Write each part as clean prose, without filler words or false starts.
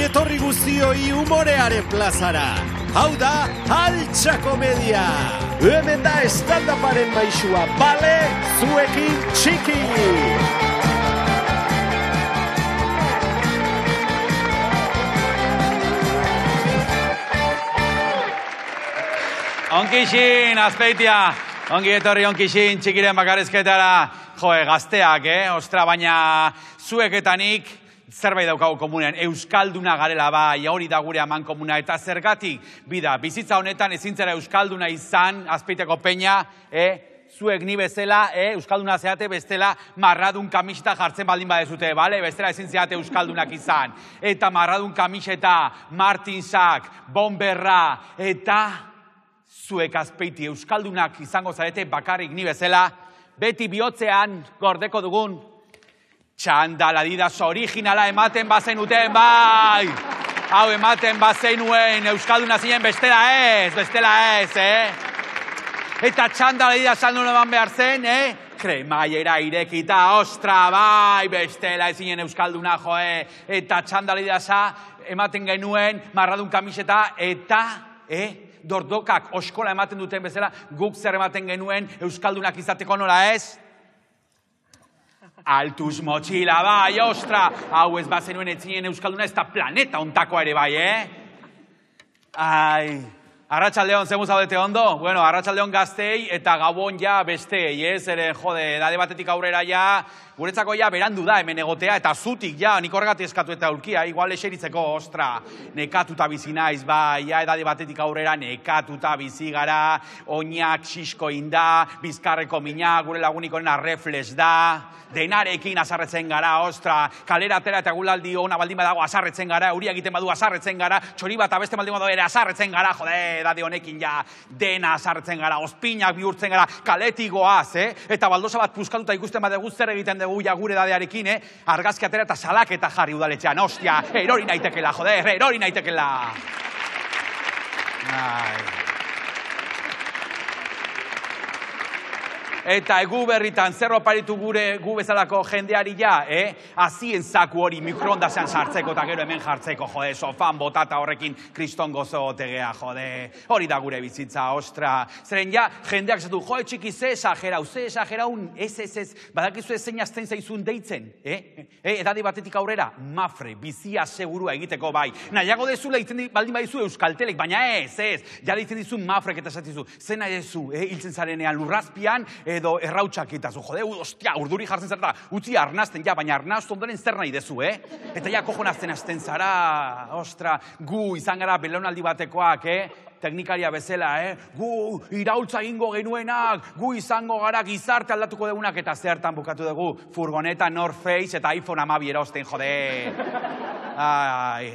etorri guztioi umorearen plazara. Hau da, Altxa Komedia. Hemen da stand-uparen maisua, bale, zuekin txiki. Onkixin, Azpeitia. Ongi etorri onkixin, txikiren bakarrizketara. Joe, gazteak, Ostra, baina zuek eta nik zerbait daukagu komunean. Euskalduna garela bai, hori da gure aman komuna. Eta zergatik, bida, bizitza honetan ezintzera euskalduna izan, Azpeitiako peña, zuek ni bezala, euskalduna zeate bestela marradun kamiseta jartzen baldin badezute, bale? Bestela ezin zeate euskaldunak izan. Eta marradun kamiseta, Martinsak, Bomberra, eta zuek Azpeiti euskaldunak izango zarete bakarrik ni bezala, beti bihotzean gordeko dugun txandal Adidas originala ematen bazenuten, bai! Hau ematen bazenuen euskalduna zinen bestela ez, Eta txandal Adidas aldun eman behar zen, kremaiera irekita, ostra, bai, bestela ezinen euskalduna, joe. Eta txandal Adidasa ematen genuen marradun kamiseta, eta, dordokak oskola ematen duten bezala, guk zer ematen genuen euskaldunak izateko nola ez? Altuz motxila, bai, ostra! Hau ez bazenuen etzinen euskalduna, ez da planeta ontakoa ere bai, Ai, Arratsaldeon, zemuz zaudete ondo? Bueno, Arratsaldeon gaztei eta gabon ja bestei, ere jode, edade batetik aurrera ja, guretzako ja berandu da hemen egotea, eta zutik ja, nik horregatik eskatu eta ulkia, igual eseritzeko, ostra, nekatuta bizi naiz, bai, ja, edade batetik aurrera nekatuta bizi gara, oinak xisko inda, bizkarreko mina, gure lagunikoren reflex da, denarekin azarretzen gara, ostra, kalera atera eta gulaldi ona baldin badago azarretzen gara, euria egiten badu azarretzen gara, txori bat abeste baldin badago ere azarretzen gara, jode, edade honekin ja, dena azarretzen gara, ospinak bihurtzen gara, kaletik goaz, eta baldosa bat puskatuta ikusten badegu zer egiten dugu ja gure edadearekin, argazki atera eta salaketa jarri udaletxean, ostia, erori naitekela, joder, erori naitekela. Eta egu berritan, zer oparitu gu bezalako jendeari ja, azien zaku hori mikroondasean sartzeko eta gero hemen jartzeko, jode, sofan botata horrekin kriston gozo otegea, jode, hori da gure bizitza, ostra. Zeren ja, jendeak zatu, jode txiki, ze esageraun, ez, badakizu zein azten zaizun deitzen, edade batetik aurrera, mafre, bizia segurua egiteko bai. Nahiago dezula itzen baldin badizu euskaltelek, baina ez, ja deitzen dizu mafrek eta esatizu, zen nahi dezu, hiltzen zarenean lurrazpian, edo errautxak itazu, jode, ostia, urduri jartzen zara, utzi arnazten, ja, baina arnaztu ondoren zer nahi dezu, Eta ja, kojonazten azten zara, ostra, gu izan gara belaunaldi batekoak, teknikaria bezala, gu iraultza egingo genuenak, gu izango gara gizarte aldatuko dugunak, eta zertan bukatu dugu, furgoneta, North Face eta iPhone 12 erosten, jode.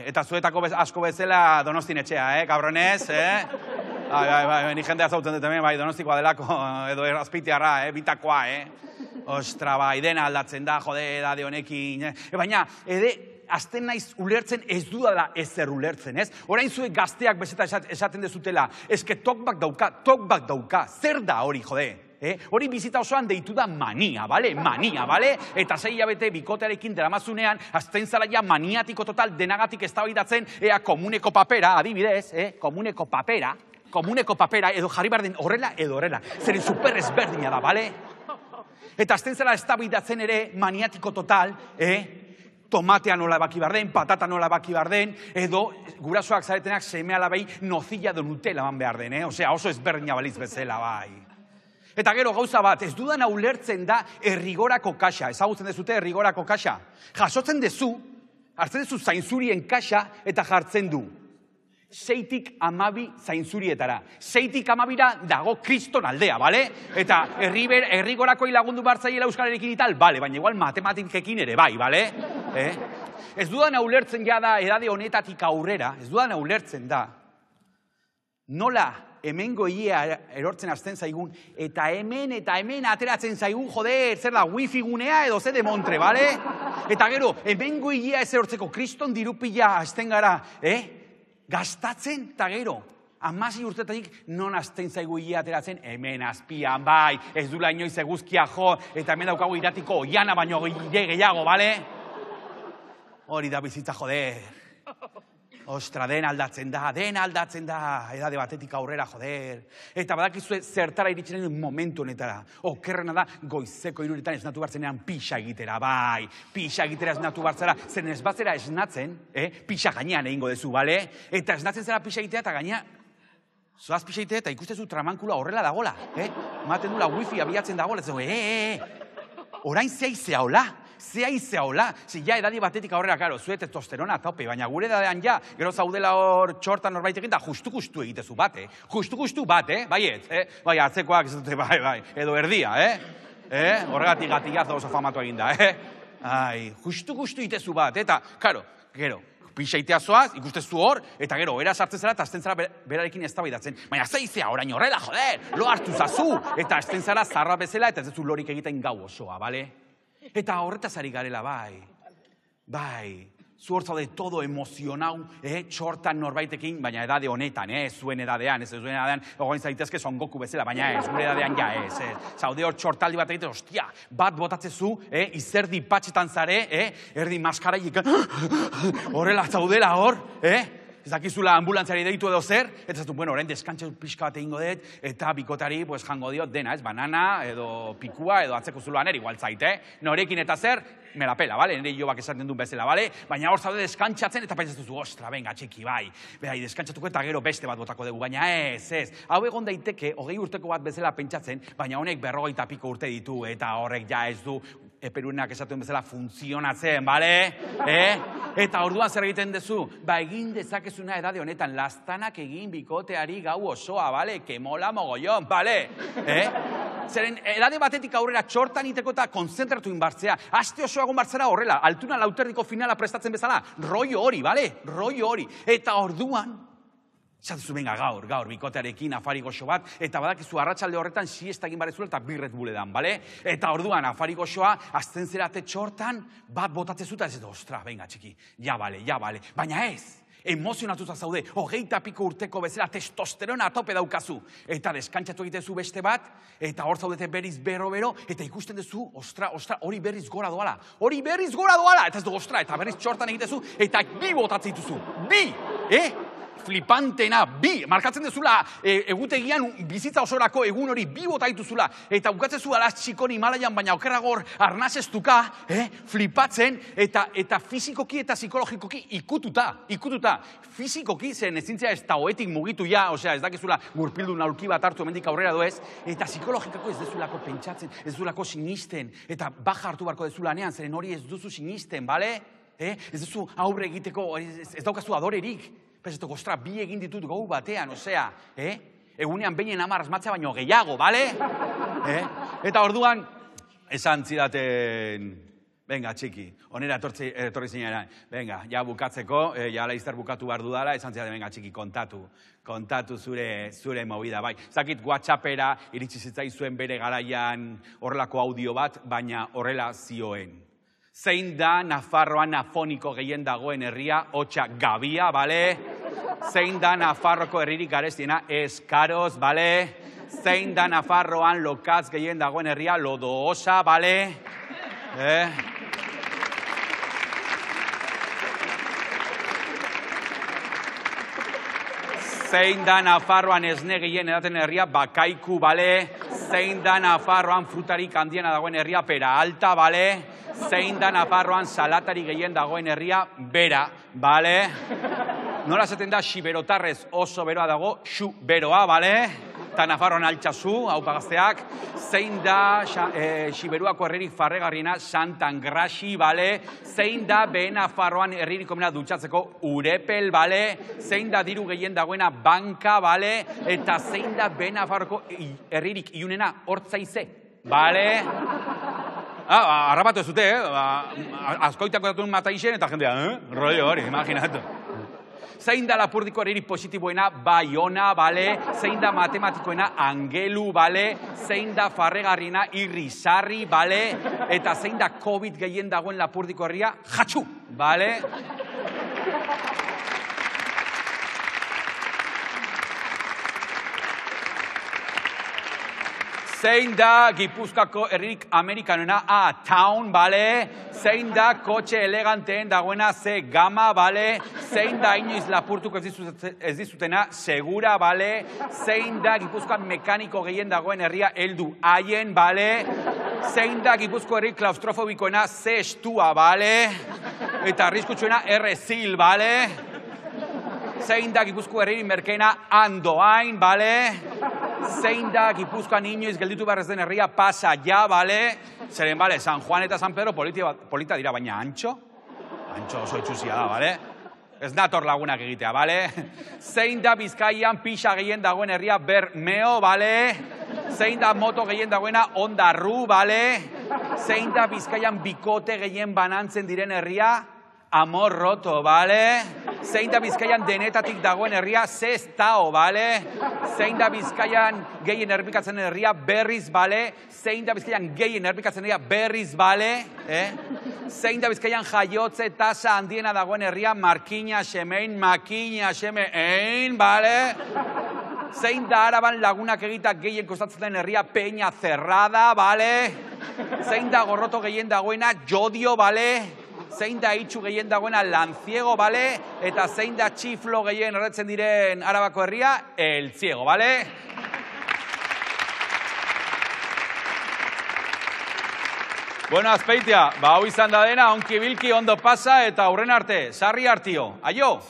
Eta zuetako asko bezala Donostin etxea, cabronez, ni jendea zautzen dut hemen, bai, Donostikoa delako, edo Azpeitiarra, bitakoa, Ostra, bai, dena aldatzen da, jode, edade honekin, baina, azten naiz ulertzen ez dudala ezer ulertzen, ez? Orain zuek gazteak bezeta esaten dezutela, eske tokbak dauka, zer da hori, jode? Hori bizita osoan deitu da mania, bale? Mania, bale? Eta 6 hilabete bikotearekin deramazunean, azten zara ja maniatiko total denagatik eztabaidatzen, ea komuneko papera, adibidez, komuneko papera, edo jarri behar den horrela edo horrela. Zeren super ezberdina da, bale? Eta azten zara eztabaidatzen ere maniatiko total, tomatea nola baki behar den, patata nola baki behar den, edo gurasoak zaretenak seme alabei nozilla de Nutella man behar den, Osea, oso ezberdina baliz bezala, bai. Eta gero gauza bat, ez dudan ulertzen da errigorako kaxa, ezagutzen dezute errigorako kaxa. Jasotzen dezu, hartzen dezu zainzurien kaxa eta jartzen du. 6tik 12 zainzurietara. 6tik 12ra dago kriston aldea, bale? Eta errigorakoi lagundu bartzaiela euskararekin ital, bale, baina igual matematikekin ere bai, bale? Ez dudan ulertzen ja da edade honetatik aurrera, ez dudan ulertzen da, nola hemengo ia erortzen azten zaigun, eta hemen ateratzen zaigun, joder, zer da, wifi gunea edo ze de montre, bale? Eta gero, hemengo ia ez erortzeko kriston dirupila azten gara, gastatzen, eta gero, 16 urtetatik non azten zaigu ia ateratzen, hemen azpian, bai, ez dula inoiz eguzkia jo, eta hemen daukagu iratiko oiana baino gehiago, bale? Hori da bizitza, joder. Ostra, den aldatzen da, edade batetik aurrera, joder. Eta badakizue zertara iritsen den momentu honetara. Okerrena da, goizeko 3:00 esnatu bartzenean pixa egitera, bai. Pixa egitera esnatu bartzera, zen ez batzera esnatzen, pixa gainean egingo dezu, bale? Eta esnatzen zera pixa egitea eta gaina, zoaz pixa egitea eta ikustezu tramankula horrela dagola, Maten dula wifi abiatzen dagola, orain zehaizea hola. Zea hola, ja edadi batetik aurrera, karo, zue testosterona tope, baina gure edadean ja, gero zaudela hor txortan norbaitekin, da justu egitezu bat, Justu bat, baiet, Bai, atzekoak, bai, edo erdia, Horregatik gatigazo oso famatu eginda, Ai, justu egitezu bat, eta, karo, gero, pixaitea zoaz, ikustezu hor, eta gero, era sartzen zara, eta azten zara berarekin eztabaidatzen. Baina zeizea, orain horrela, joder, lo hartu zazu, eta azten zara zarra bezala, eta ez zu lorik egiten gau osoa, bale? Eta horretaz ari garela, bai, zu hor zaude todo emozionau, txortan norbaitekin, baina edade honetan, zuen edadean, ogoin zaitezke Son Goku bezala, baina ez, gure edadean ja ez. Zaude hor txortaldi bat egiten, ostia, bat botatzezu, izerdi patxetan zare, erdi maskaraik, horrela zaudela hor, ez dakizula ambulantziari deitu edo zer, eta zatu, bueno, orain deskantxe pixka bat egingo dut, eta bikotari jango diot dena, banana, edo pikua, edo atzeko zuloan igual zaite, norekin eta zer, me la pela, bale? Nire jobak esaten duen bezala, bale? Baina hor zaude deskantxatzen, eta pentsatzen ostra, venga, txiki, bai, deskantxatuko eta gero beste bat botako dugu, baina ez. Hau egon daiteke, 20 urteko bat bezala pentsatzen, baina honek 40 piko urte ditu, eta horrek ja ez du, eperuenak esaten bezala funtzionatzen, bale? Eta orduan zer egiten dezu? Egin dezakezuna edade honetan, lastanak egin bikoteari gau osoa, bale? Que mola mogollon, bale? Zeren, edade batetik aurrera txortan iteko eta konzentratu inbartzea. Aste osoa egon bartzera horrela, altuna lauterdiko finala prestatzen bezala. Rollo hori, bale? Rollo hori. Eta orduan, zatezu benga gaur, bikotearekin afari goxo bat, eta badakizu arratsalde horretan siesta egin barezula eta birret buledan, bale? Eta orduan afari goxoa, azten zerate txortan, bat botatzezuta ez edo, ostra, benga txiki, ja bale, baina ez. Emozionatuta zaude, 20 piko urteko bezala testosterona atope daukazu. Eta deskantxatu egitezu beste bat, eta hor zaudete berriz bero, eta ikusten duzu, ostra, hori berriz gora doala. Eta ez du, ostra, eta berriz txortan egitezu, eta bi botatzen dituzu. Flipantena, markatzen dezula, egutegian bizitza osorako egun hori bi bota dituzula, eta ukatzezu alaz txikon Himalaian, baina okerragor arnazestuka, flipatzen, eta fizikoki eta psikologikoki ikututa. Fizikoki zen ezintzea ez taoetik mugitu ja, osea, ez dakizula gurpildu naulki bat hartu hemendik aurrera doez, eta psikologikako ez dezulako pentsatzen, ez dezulako sinisten, eta baja hartu barko dezulanean, zeren hori ez duzu sinisten, bale? Ez duzu aurre egiteko, ez daukazu adorerik. Pesetok, ostra, bi egin ditut gau batean, osea, egunean beinen 10 asmatzea baino gehiago, bale? Eta orduan, esan zidaten, venga, txiki, onera etorri zinera, venga, ja bukatzeko, ja laizter bukatu behar dudala, esan zidaten, venga, txiki, kontatu zure movida, bai. Zakit WhatsAppera iritsi zitzaizuen bere garaian horrelako audio bat, baina horrela zioen. Zein da Nafarroan afoniko gehien dagoen herria, hotxa Gabia, bale? Zein da Nafarroko herririk garestiena, Eskaroz, bale? Zein da Nafarroan lokatz gehien dagoen herria, Lodoosa, bale? Zein da Nafarroan esne gehien edaten herria, Bakaiku, bale? Zein da Nafarroan frutarik handiena dagoen herria, Peralta, bale? Zein da Nafarroan salatari gehien dagoen herria, Bera, bale? Nola esaten da, Xiberotarrez oso beroa dago, Xu beroa, bale? Eta Nafarroan altxazu, hau pagazteak. Zein da Xiberuako herririk farregarriena, Santangraxi, bale? Zein da Behe Nafarroan herririk komena dutxatzeko, Urepel, bale? Zein da diru gehien dagoena, Banka, bale? Eta zein da Behe Nafarroko herririk iunena, Hortzaize, bale? Arrapatu ez dute, azkoitako datuen mataixen, eta jendea, rollo hori, imaginatu. Zein da Lapurdiko herririk positiboena, Baiona, bale? Zein da matematikoena, Angelu, bale? Zein da farregarriena, Irrizarri, bale? Eta zein da COVID gehien dagoen Lapurdiko herria, Jatxu, bale? Zein da Gipuzkoako herririk amerikanoena, Town, bale? Zein da kotxe eleganteen dagoena, Gama, bale? zein da inoiz lapurtuko ez dizutena, segura, bale? Zein da Gipuzkoan mekaniko gehien dagoen herria, heldu haien, bale? Zein da Gipuzko herri klaustrofobikoena, ze estua, bale? Eta arriskutsuena, errezil, bale? Zein da Gipuzko herri merkeena, andoain, bale? Zein da Gipuzkoan inoiz gelditu behar ez den herria, pasa ja, bale? Zeren, bale, San Juan eta San Pedro polita dira, baina antxo? Antxo oso itxusia da, bale? Ez nator lagunak egitea, bale? Zein da Bizkaian pixa gehien dagoen herria, Bermeo, bale? Zein da moto gehien dagoena, Ondarru, bale? Zein da Bizkaian bikote gehien banantzen diren herria, Amor roto, bale? Zein da Bizkaian denetatik dagoen herria, Sestao, bale? Zein da Bizkaian gehien errepikatzen herria, Berriz, bale? Zein da Bizkaian gehien errepikatzen herria, Berriz, bale? Zein da Bizkaian jaiotze tasa handiena dagoen herria, Markina, Xemein, Makina, Xemein, bale? Zein da Araban lagunak egitak gehien kostatzen den herria, Peña Cerrada, bale? Zein da gorroto gehien dagoena, Jodio, bale? Zein da itxu gehien dagoena, Lanciego, bale? Eta zein da txiflo gehien erretzen diren Arabako herria, El Ciego, bale? Bueno, Azpeitia, hau izan da dena, onki bilki ondo pasa eta aurren arte, sarri hartio. Aio!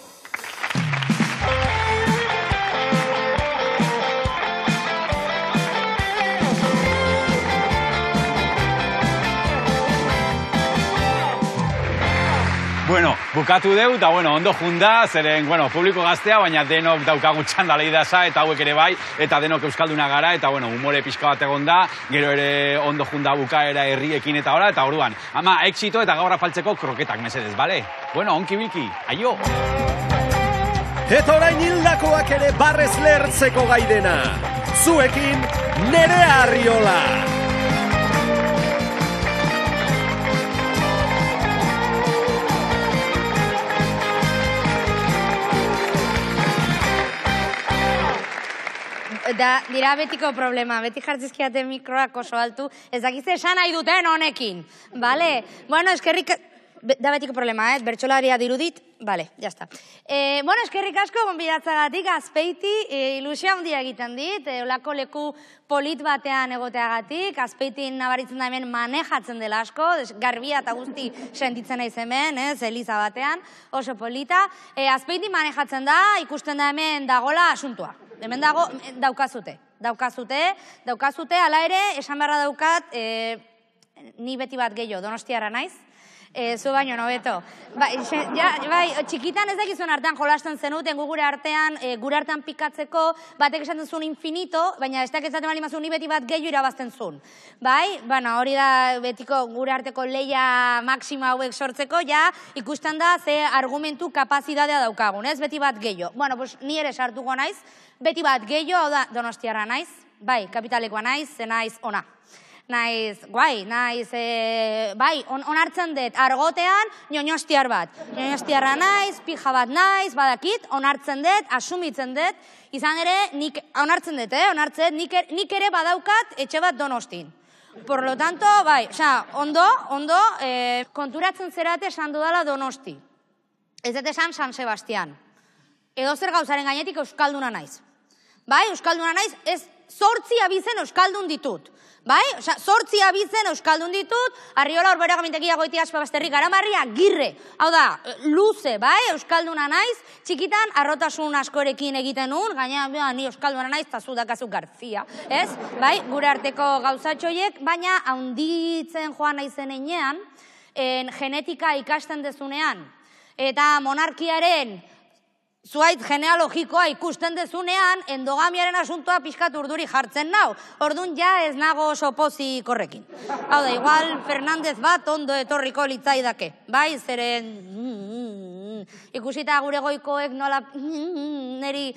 Bueno, bukatu deu, eta ondo junda, zeren, publiko gaztea, baina denok daukagu txandalei dasa, eta hauek ere bai, eta denok euskalduna gara, eta umore pixka bat egon da, gero ere ondo junda bukaera herriekin eta ora, eta orduan, ama, exito eta gaur afaltzeko kroketak mesedez, bale? Bueno, onki bilki, aio! Eta orain hildakoak ere barrez lehertzeko gaidena, zuekin Nerea Arriola! Da, dira betiko problema, beti jartzizkiate mikroak oso altu, ez dakize esan nahi duten honekin, bale? Bueno, eskerrik... Da betiko problema, bertxolaria dirudit, bale, jazta. Bueno, eskerrik asko, gonbidatzagatik, Azpeiti, ilusia handia egiten dit, olako leku polit batean egoteagatik, Azpeitin nabaritzen da hemen manejatzen dela asko, garbia eta guzti sentitzen naiz hemen, Eliza batean, oso polita. Azpeiti manejatzen da, ikusten da hemen dagola asuntua. Hemen dago, daukazute, ala ere, esan beharra daukat, ni beti bat gehiago, Donostiarra naiz, zu baino nobeto. Bai, txikitan ez dakizuen artean jolasten zenuten, gure artean pikatzeko, batek esaten zuen infinito, baina ez dakizaten bali mazun, ni beti bat gehiago irabazten zuen. Bai, bueno, hori da betiko gure arteko leia maksima hauek sortzeko, ja, ikusten da ze argumentu kapazitatea daukagun, ez beti bat gehiago. Bueno, pues ni ere sartuko naiz, beti bat gehiago, hau da, Donostiarra naiz, bai, kapitalekoa naiz, ze naiz ona. Naiz, guai, naiz, bai, onartzen dut, argotean, ñoñostiar bat. Ñoñostiarra naiz, pija bat naiz, badakit, onartzen dut, asumitzen dut, izan ere, onartzen dut, nik ere badaukat etxe bat Donostin. Por lo tanto, bai, ondo, konturatzen zerate esan dudala Donosti. Ez dut esan San Sebastian. Edo zer gauzaren gainetik euskalduna naiz. Bai, euskalduna naiz, ez 8 abizen euskaldun ditut. Bai, 8 abizen euskaldun ditut, Arriola Orbera Gamintegia Goitia Aspabasterrik Garamarria, Girre. Hau da, luze, bai, euskalduna naiz, txikitan arrotasun askorekin egiten nun, gaina ni euskalduna naiz, eta zu dakazu Garzia, ez? Bai, gure arteko gauzatxoiek, baina haunditzen joan naizen enean, genetika ikasten dezunean, eta monarkiaren zuait genealogikoa ikusten dezunean, endogamiaren asuntoa pixkat urduri jartzen nau. Orduan ja ez nago oso pozik horrekin. Hau da, igual Fernandez bat ondo etorriko litzaidake. Bai, zeren... Ikusita gure goikoek nola... Neri...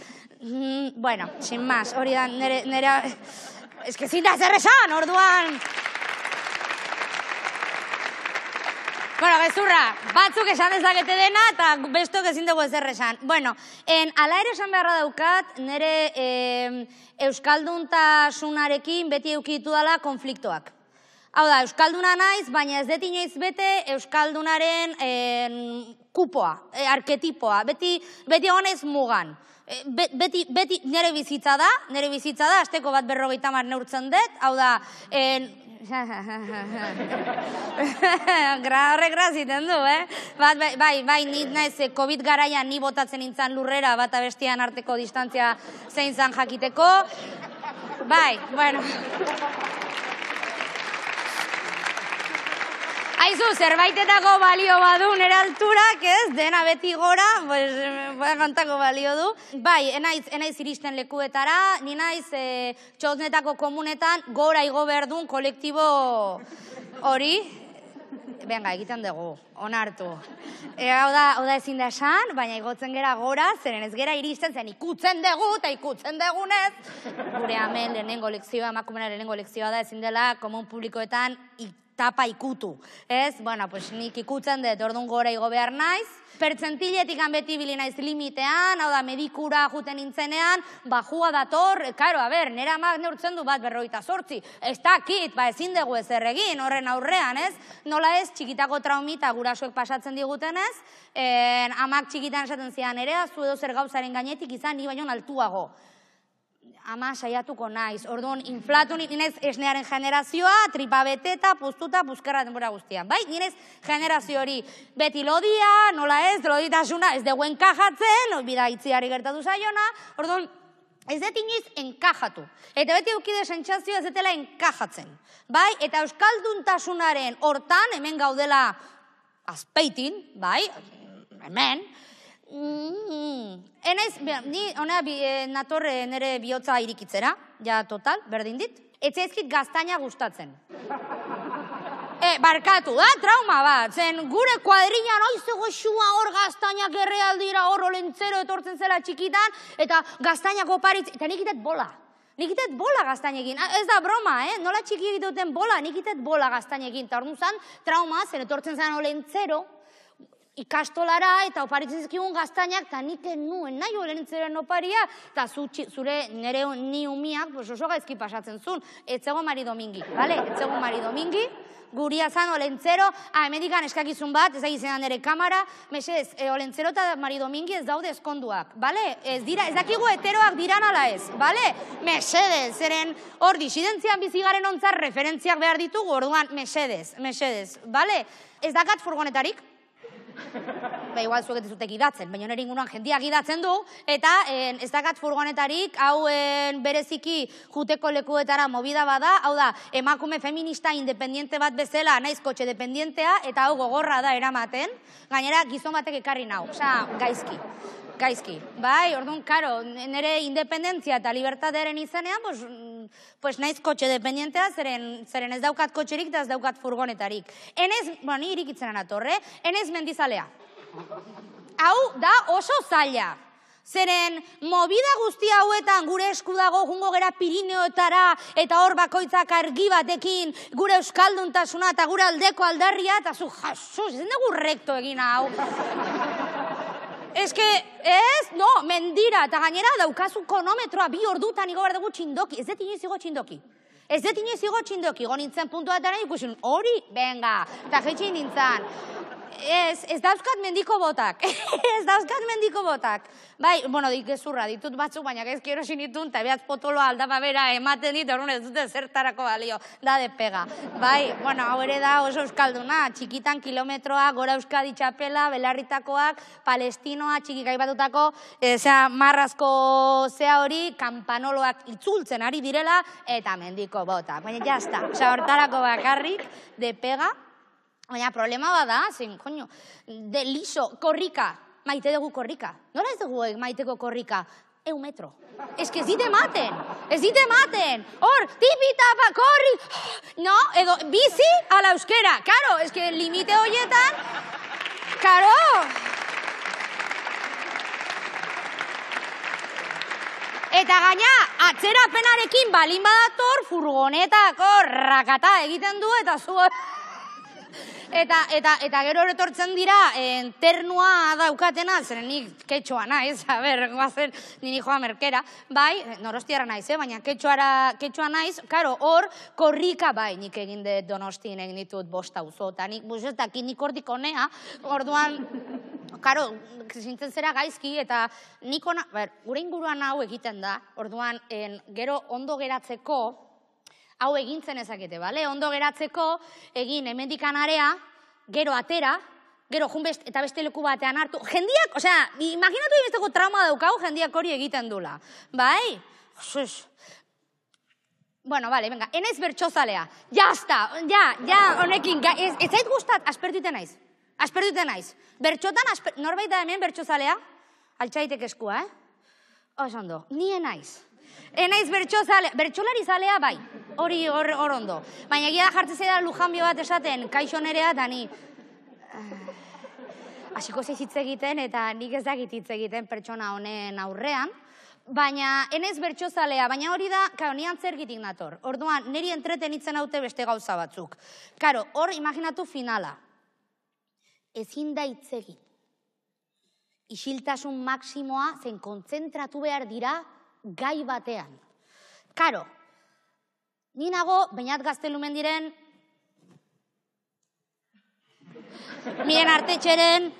Bueno, sin más, hori da, nera... Ez que zin da zer esan, orduan... Bueno, gezurra, batzuk esan dezakete dena eta bestok ezin dugu ezer esan. Bueno, ala ere esan beharra daukat, nire euskalduntasunarekin beti eukitu dela konfliktoak. Hau da, euskalduna naiz, baina ez dut inoiz bete euskaldunaren kupoa, arketipoa, beti honez mugan. Beti nire bizitza da, asteko bat 50 neurtzen dut, hau da, horrek graziten du, Bai, ni naiz, COVID garaian ni botatzen nintzen lurrera, bata bestian arteko distantzia zein zan jakiteko. Bai, bueno. Aizu, zerbaitetako balio badu nire alturak, ez? Dena beti gora, kantako balio du. Bai, enaiz iristen lekuetara, ni naiz txosnetako komunetan gora igo behar duen kolektibo hori. Venga, egiten dugu, onartu. Hau da ezin da esan, baina igotzen gera gora, zeren ez gera iristen zen ikutzen dugu, eta ikutzen dugunez. Gure hemen lehenengo lekzioa, emakumena lehenengo lekzioa da, ezin dela komun publikoetan tapa ikutu. Ez? Bueno, pues nik ikutzen dut, orduan gora igo behar naiz. Pertsentiletik beti bili naiz limitean, hau da, medikura juten nintzenean, bajua dator, karo, nire amak neurtzen du bat 58. Ez dakit, ezin dugu ez erregin, horren aurrean, ez? Nola ez, txikitako traumita gurasoek pasatzen digutenez, amak txikitan esaten zian, ere, zu edo zer gauzaren gainetik izan, ni baino altuago. Ama saiatuko naiz. Orduan, inflatu ninez esnearen generazioa, tripa beteta, puztuta, puzkerra denbora guztian. Bai, ninez generazio hori beti lodia, nola ez, loditasuna, ez dugu enkajatzen, bida itziari gertatu zaiona. Orduan, ez dut inoiz enkajatu. Eta beti eukide sentsazioa ez dutela enkajatzen. Bai, eta euskalduntasunaren hortan, hemen gaudela azpeitin, bai, hemen, ni hona natorre nire bihotza irikitzera, ja total, berdin dit. Etzaizkit gaztaina gustatzen. Barkatu, da, trauma bat. Zen gure kuadrilan oizego xua hor gaztainak errealdira hor olentzero etortzen zela txikitan, eta gaztainako paritz, eta nik itet bola. Nik itet bola gaztainekin. Ez da broma, nola txiki egiten bola, nik itet bola gaztainekin. Eta hor nuzan, trauma, zen etortzen zen olentzero, ikastolara eta oparitzen zizkigun gaztainak, eta nik nuen nahi olentzeren oparia, eta zure nire ni umiak oso gaizki pasatzen zuen. Etzego Mari Domingi, bale? Etzego Mari Domingi, guria zan olentzero, hemendikan eskakizun bat, ez da gizenan nire kamara, mesedez, olentzero eta Mari Domingi ez daude eskonduak, bale? Ez dakigu heteroak diran ala ez, bale? Mesedez, zeren hor disidentzian bizigaren ontzar referentziak behar ditugu, orduan, mesedez, bale? Ez dakat furgonetarik? Igual zuek ez zutek idatzen, baina nire inguruan jendiak idatzen du, eta ez dakat furgonetarik, hau bereziki juteko lekuetara movida bada, hau da, emakume feminista independiente bat bezala, naiz kotxe dependientea, eta hau gogorra da eramaten, gainera gizon batek ekarri nau, osea, gaizki. Bai, orduan, karo, nire independentzia eta libertatearen izanean, pues naiz kotxe dependientea, zeren ez daukat kotxerik eta ez daukat furgonetarik. Ni irikitzen anatorre, enez mendizalea. Hau da oso zaila. Zeren, movida guzti hauetan gure esku dago jungo gera Pirineoetara eta hor bakoitzak argi batekin gure euskalduntasuna eta gure aldeko aldarria eta zu jasus, ez dugu rekto egin hau. Ez que, mendira, eta gainera daukazu konometroa 2 ordutan igo behar dugu txindoki. Ez dut inoiz igo txindoki. Go nintzen puntua eta nahi ikusun, hori, venga, eta jetxin nintzen. Ez dauzkat mendiko botak. Bai, bueno, gezurra ditut batzuk, baina gaizki erosin ditun, eta behatz potoloa aldapa bera ematen dit, orduan ez dute zertarako balio, da de pega. Bai, bueno, hau ere da oso euskalduna, txikitan kilometroa, gora Euskadi txapela, belarritakoak, palestinoa, txikik aibatutako, marrazko zea hori, kampanoloak itzultzen ari direla, eta mendiko botak. Baina jazta, hortarako bakarrik, de pega. Baina problema bada, zen, koño, de liso, korrika, maite dugu korrika. Nola ez dugu maiteko korrika? 1 metro. Ez que ez dite maten. Hor, tipitapa, korri, no, edo, bizi ala euskera. Karo, ez que limite horietan, karo. Eta gaina, atzerapenarekin balin badator, furgonetako rakata egiten du, eta zu... Eta gero etortzen dira, ternua daukatena, zeren nik ketxoa naiz, guazen nini joa merkera, bai, norostiara naiz, baina ketxoa naiz, karo, hor, korrika, bai, nik egin dut Donostien egin ditut 5 auzo, eta nik, ez dakit nik hortik honea, orduan, karo, zintzen zera gaizki, eta nik gure inguruan hau egiten da, orduan, gero ondo geratzeko, hau egintzen ezakete, bale? Ondo geratzeko, egin hemendikan area, gero atera, gero junbest eta beste leku batean hartu. Jendiak, osea, imaginatu besteko trauma daukau, jendiak hori egiten dula. Bai? Bueno, vale, venga, enaiz bertxozalea. Jazta, honekin, ez zait gustat, aspertuten naiz. Aspertuten naiz. Bertxotan, norbait da hemen bertxozalea? Altxaitek eskua, Osondo, ni enaiz. Enaiz bertxozalea, bertxolari zalea bai, hori hor ondo. Baina egia da jartzen zeda lujanbio bat esaten, kaixo nerea, eta ni... Hasiko zeiz hitz egiten, eta nik ez dakit hitz egiten pertsona honen aurrean, baina enaiz bertxozalea, baina hori da, karo, ni antzerkitik nator. Orduan, niri entretenitzen haute beste gauza batzuk. Karo, hor imaginatu finala. Ezin da hitz egin. Isiltasun maksimoa zen kontzentratu behar dira gai batean. Karo, ni nago, bainat Gaztelumen diren, Miren Artetxeren,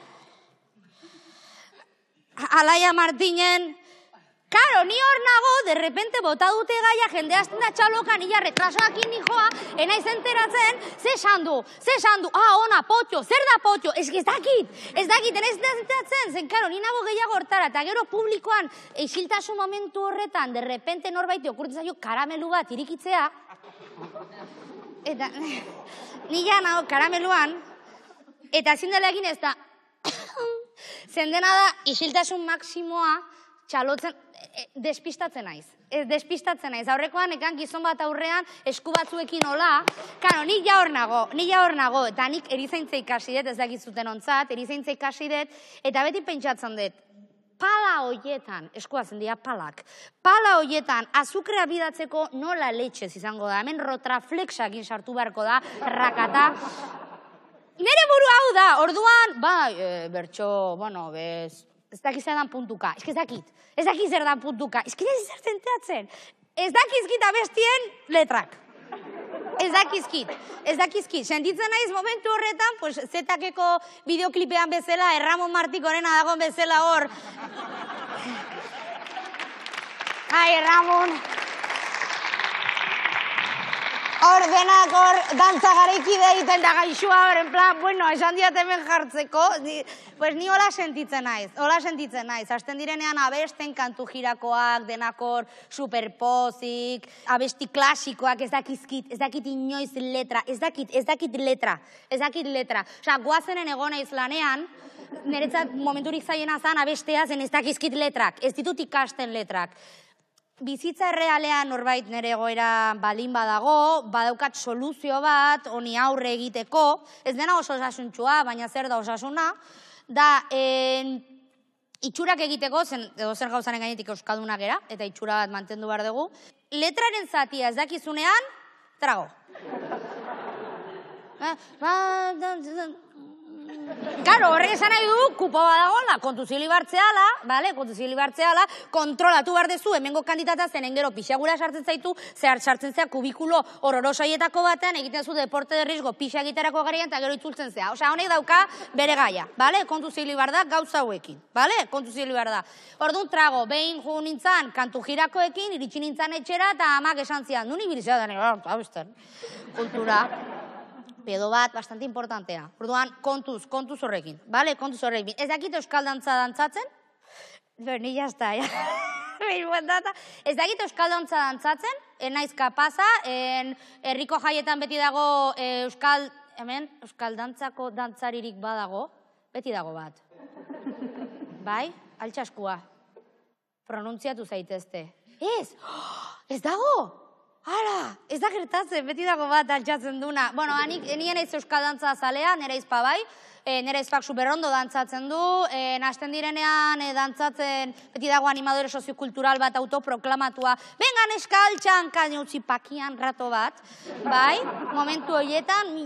Alaia Martinen, karo, ni hor nago, de repente bota dute gaia, jende hasten da txalokan, illa retrasoakin nijoa, enaiz enteratzen, ze esan du, ona, potxo, zer da potxo, ez dakit, enaiz enteratzen, zen, karo, ni nago gehiago hortara, eta gero publikoan, isiltasun momentu horretan, de repente norbaiti okurtzen zaio karamelu bat irikitzea, eta, ni ja nago karameluan, eta ezin dela egin ez da, zendena da, isiltasun maksimoa, txalotzen, despistatzen naiz. Ez despistatzen naiz. Aurrekoan, ekan gizon bat aurrean, esku batzuekin hola. Karo, nik ja hor nago. Eta nik erizaintza ikasi dut, ez dakizuten ontzat, erizaintza ikasi dut, eta beti pentsatzen dut, pala hoietan, eskuatzen dira palak, pala hoietan, azukrea bidatzeko nola letxez izango da. Hemen rotraflexakin sartu beharko da, rakata. Nere buru hau da, orduan, bertxo, bueno, ez dakiz zer dan puntuka, ez dakit zer dan puntuka, ez zer zenteatzen, ez dakizkit abestien letrak, ez dakizkit, sentitzen naiz momentu horretan, pues zetakeko bideoklipean bezala, Erramon Martikorena dagoen bezala hor, ai, Erramon, hor denak hor dantza garaikide egiten da gaixua hor, en plan, bueno, esan diat hemen jartzeko, pues ni hola sentitzen naiz, hasten direnean abesten kantu jirakoak, denak hor superpozik, abesti klasikoak, ez dakit inoiz letra, ez dakit letra. Osa, guazenen egona izlanean, niretzat momenturik zaiena zan abestea zen ez dakizkit letrak, ez ditut ikasten letrak. Bizitza errealean norbait nire egoera balin badago, badaukat soluzio bat, honi aurre egiteko, ez dena oso osasuntxua, baina zer da osasuna, da itxurak egiteko, edo zer gauzaren gainetik euskalduna gera, eta itxura bat mantendu behar dugu, letraren zatia ez dakizunean, trago. Karo, horrek esan nahi du, kupo badagola, kontuzio libartzeala, kontrolatu behar dezu, hemengo kandidata zenen gero pixagura sartzen zaitu, zehar sartzen zea kubikulo hororosaietako batean, egiten zu deporte de risgo pixa egiterako garaian, eta gero itzultzen zea. Osea, honek dauka bere gaia, kontuzio libar da gauza hauekin, kontuzio libar da. Orduan trago, behin ju nintzan, kantu jirakoekin, iritsi nintzan etxera, eta amak esan zian, nuni bilizea da nire, kultura. Pedo bat, bastante importantea. Orduan, kontuz horrekin. Kontuz horrekin. Ez dakit euskal dantza dantzatzen? Ni jazta, ja. Ez dakit euskal dantza dantzatzen? Naiz kapaza, herriko jaietan beti dago euskal dantzako dantzaririk badago. Beti dago bat. Bai? Altsaskua. Pronuntziatu zaitezte. Ez dago? Hala, ez da gertatzen, beti dago bat altxatzen duna. Bueno, nien eiz euskal dantza zalea, nire izpa bai, nire izpak superondo dantzatzen du, nasten direnean dantzatzen, beti dago animadore soziokultural bat autoproklamatua, bengan neska altxan, utzi pakian rato bat, bai, momentu horietan,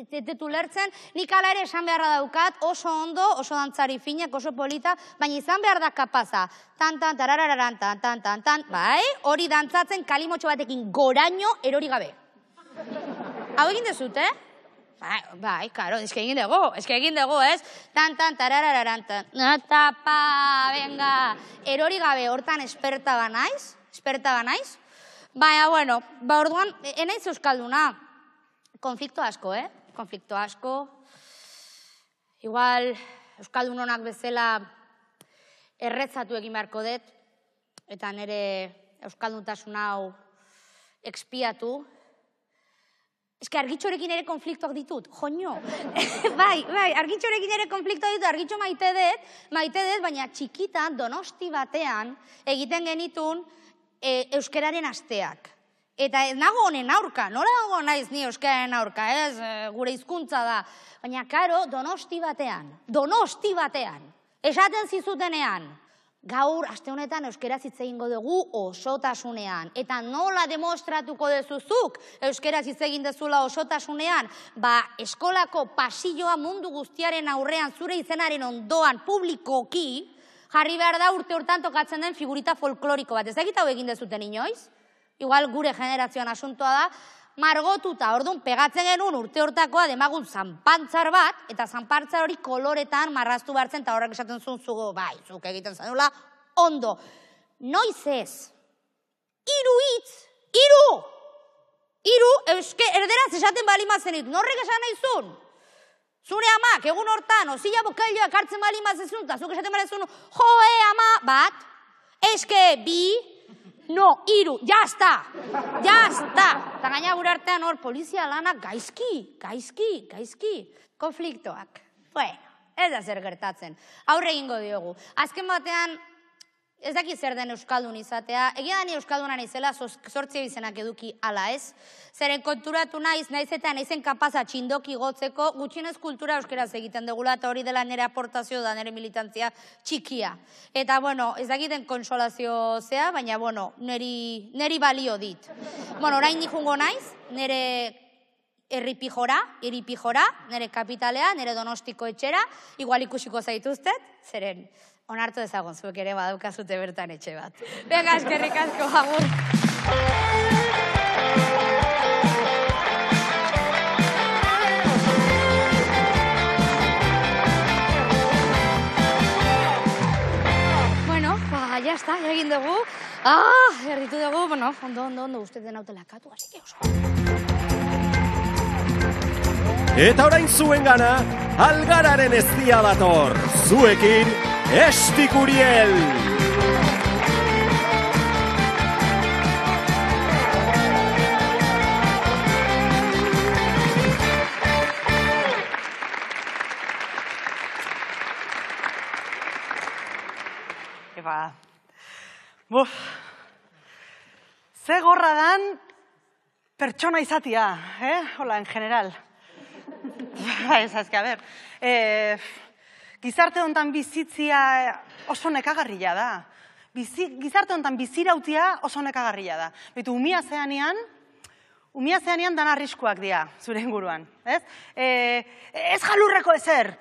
tetu lertzen, nik ala ere esan beharra daukat, oso ondo, oso dantzari finak, oso polita, baina izan behar da kapaza, tan, tararararan, tan, bai, hori dantzatzen kalimotxo batekin goraino erori gabe. Hau egin dezut, Bai, karo, eske egin dugu, ez? Tan, tararararan, tapa, venga, erori gabe hortan esperta ba naiz. Baina, bueno, orduan, enaiz euskalduna, konflikto asko, konflikto asko. Igual, euskaldun honak bezala erretzatu egin beharko dut, eta nire euskalduntasun hau expiatu. Eske argitxorekin ere konfliktoak ditut, joño. Bai, argitxorekin ere konfliktoak ditut, argitxo maite dut, baina txikitan, Donosti batean, egiten genitun euskararen asteak. Eta nago honen aurka, nola dago naiz ni euskararen aurka, ez, gure hizkuntza da. Baina, karo, Donosti batean, esaten zizutenean, gaur, aste honetan euskaraz hitz egingo dugu osotasunean. Eta nola demostratuko dezuzuk euskaraz hitz egin dezula osotasunean? Ba, eskolako pasilloa mundu guztiaren aurrean zure izenaren ondoan publikoki, jarri behar da urte hortan tokatzen den figurita folkloriko bat. Ez dakit hau egin dezuten inoiz? Igual gure generazioan asuntoa da, margotuta, orduan pegatzen genuen urte hortakoa demagun zanpantzar bat, eta zanpantzar hori koloretan marraztu behartzen, eta horrek esaten zuen zugo, bai, zuk egiten zenula, ondo. Noiz ez. Hiru hitz, erderaz esaten balimazen ditu. Norrek esan nahi zuen? Zure amak, egun hortan, ozila bokailioak hartzen balimazen zuen, eta zuk esaten balimazen zuen, joe, ama, bat, eske, bi, no, hiru, jazta. Eta gaina gure artean hor, polizia lanak gaizki. Konfliktoak. Bueno, ez da zer gertatzen. Aurre egingo diogu. Azken batean, ez daki zer den euskaldun izatea. Egia da ni euskaldunan izela, sortzi bizenak eduki ala ez. Zeren konturatu naiz eta naizen kapaza txindoki gotzeko, gutxienez kultura euskeraz egiten dugula, eta hori dela nire aportazio da nire militantzia txikia. Eta, bueno, ez dakiten konsolazio zea, baina, bueno, niri balio dit. Bueno, orain nijungo naiz, nire iripijora, nire kapitalea, nire Donostiko etxera, igual ikusiko zaituztet, zeren onartu ezagun zuek ere badaukazute bertan etxe bat. Venga, eskerrik asko, agur. Bueno, ya está, ya egin dugu. Erditu dugu, bueno, ondo, uste den hautelakatu, así que oso. Eta orain zuen gana, Algararen eztia dator, zuekin, Estikuriel! Epa, ze gorra dan pertsona izatia, hola, en general. Ez, a ver, gizarte honetan bizitzia oso nekagarria da. Gizarte honetan bizirautia oso nekagarria da. Betu, umia zeanean dan arriskuak dira, zure inguruan. Ez jalurreko ezer,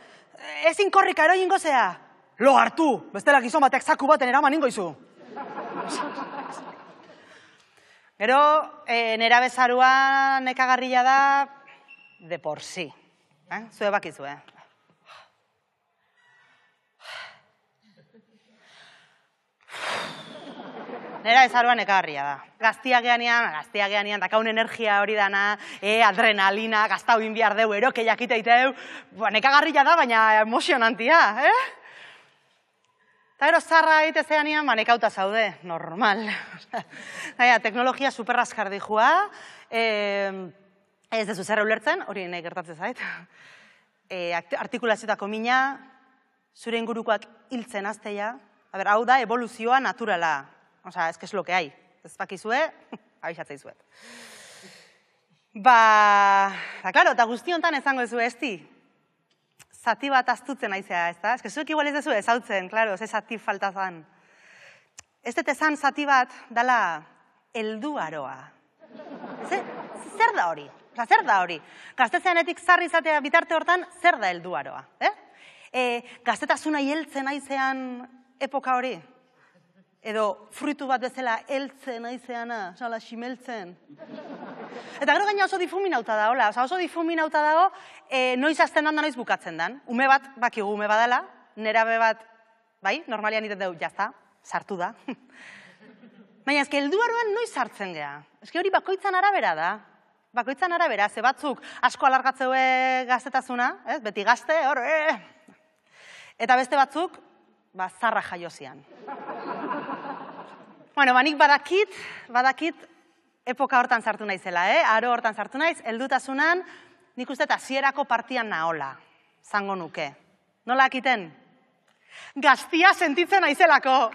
ez inkorrika eroingo zea. Lo hartu, bestela gizon batek zaku baten eraman ingoizu. Gero, nera bezarua nekagarria da de por sí. Zue bakizu, Nera ezaruan nekagarria da. Gaztiak geanean, dakaun energia hori dana, adrenalina, gaztau inbiar deu, eroke jakiteiteu, nekagarria da, baina emozionantia, Eta gero zarra egite zeanean, nekauta zaude, normal. Teknologia superraskar dijua, ez dezu zerra ulertzen, hori nahi gertatzen zait. Artikulazioetako mina, zure ingurukoak hiltzen azteia, hau da evoluzioa naturala. Osa, ez que es lo que hay. Ez bakizue, abixatzei zuet. Claro, eta guzti honetan ezango ezue esti. Zati bat aztutzen aizea, ez da? Ez que zuek igual ez dezu ezautzen, claro, ze zati faltazan. Ez dut ezan zati bat dala helduaroa. Zer da hori? Zer da hori? Gaztetzeanetik zarri izatea bitarte hortan, zer da helduaroa? Gaztetasuna heltzen aizean epoka hori? Edo fruitu bat bezala heltzen aizeana, xala ximeltzen? Eta gero gaina oso difuminauta da, hola, oso difuminauta dago, noiz hasten dan da noiz bukatzen dan. Ume bat, bakigu ume badala, nerabe bat, bai, normalian iten dugu, jazta, sartu da. Baina, ezke, helduaroan noiz sartzen gea. Ezke hori bakoitzan arabera da. Bakoitzan arabera, ze batzuk asko alargatzeue gaztetasuna, beti gazte, hor, Eta beste batzuk, zarra jaiozian. Bueno, nik badakit epoka hortan sartu naizela, aro hortan sartu naiz, heldutasunan, nik uste eta hasierako partian nahola, zango nuke. Nola akiten? Gaztia sentitzen naizelako.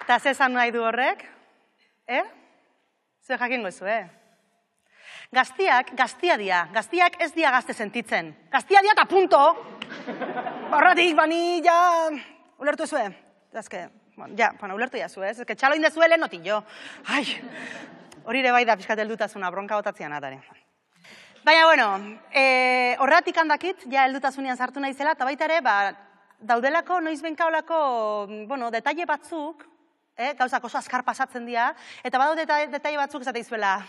Eta ze esan nahi du horrek? Zue jakingo zu, Gaztiak, gaztia dia. Gaztiak ez dia gazte sentitzen. Gaztia dia eta punto. Horratik, bani, ja... Ulertu zue? Ulertu ja zue, ez? Ez que txalo indezue lehen noti jo. Ai, hori ere bai da pixkat heldutasuna, bronka botatzean atare. Baina, bueno, horratik handakit, ja heldutasunian sartu naizela, eta baita ere, daudelako, noiz benka olako, detaile batzuk, gauzak oso azkar pasatzen dira, eta badau detaile batzuk esate izuela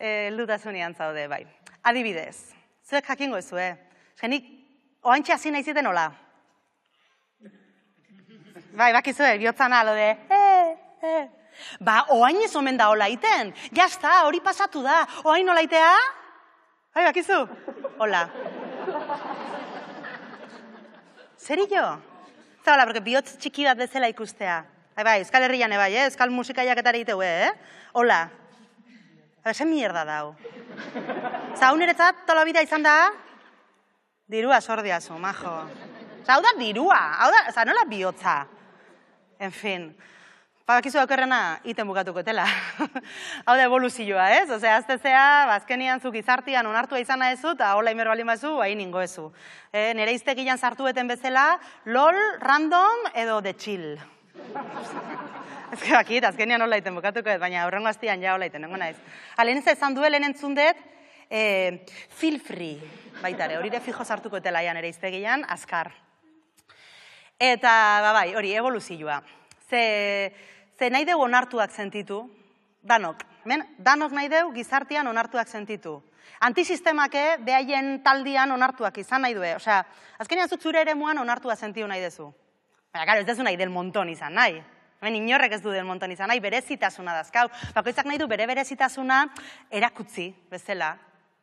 heldutasunean zaude, bai. Adibidez, zuek jakingo ezu, Genik, oantxe hasi nahi ziten hola. Bai, bakizue, bihotzan alo de, oain ez omen da hola iten. Jazta, hori pasatu da. Oain hola itea? Bai, bakizu? Hola. Zeri jo? Zabala, porque bihotz txiki bat bezala ikustea. Bai, Euskal Herrian bai, Euskal musikaiak eta egiteu, Hola. Zer mierda dau. Zau niretzat, tola bida izan da, dirua sordiazu, majo. Hau da dirua, nola bihotza. En fin, bakizu daukerrena, iten bukatuko etela. Hau da evoluzioa, ez? Osea, aztezea, azkenian zuk izartian onartua izana ezu, eta hola imer balin bazu, hain ingo ezu. Nere iztegian sartueten bezala, LOL, random, edo de chill. Ez que bakit, azkenian hola iten bukatuko, baina horrengo aztian ja hola iten, nengo naiz. Lehen ez ezan duelen entzundet, feel free, baitare, hori ere fijo sartuko etela nere iztegian, azkar. Eta, bai, hori, evoluzioa. Ze nahi deu onartuak sentitu, danok nahi deu gizartian onartuak sentitu. Antisistemake behaien taldian onartuak izan nahi due. Osea, azkenean zuk zure ere muan onartua sentiu nahi dezu. Baina, karo, ez dezu nahi del monton izan nahi. Hemen inorrek ez du del monton izan nahi, berezitasuna dazkau. Bakoitzak nahi du bere berezitasuna erakutzi, bezala.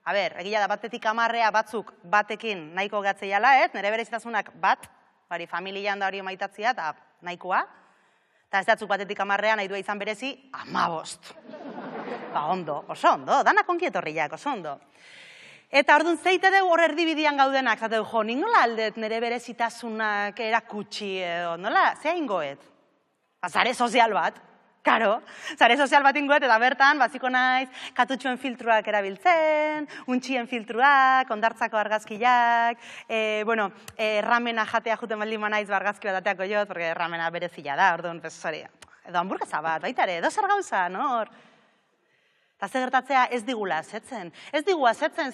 A ber, egia da batetik 10 batzuk batekin nahiko gatzeiala, nire berezitasunak bat, bari familian da hori maitatzia, eta nahikoa. Eta ez datzuk batetik 10 nahi du izan berezi, 15. Ondo, oso ondo, danak onkietorriak, oso ondo. Eta orduan zeite dugu hor erdibidian gaudenak, zateu, jo, ningola aldet nire berezitasunak erakutsi edo, nola, zea ingoet? Zare sozial bat, karo, zare sozial bat ingoet, eta bertan, baziko naiz, katutxuen filtruak erabiltzen, untxien filtruak, ondartzako argazkiak, ramena jatea juten baldin naiz argazki bat ateako jot, porque ramena berezila da, orduan, edo hamburguesa bat, baitare, edo zer gauza, no? Eta ze gertatzea ez digula azetzen. Ez digu azetzen,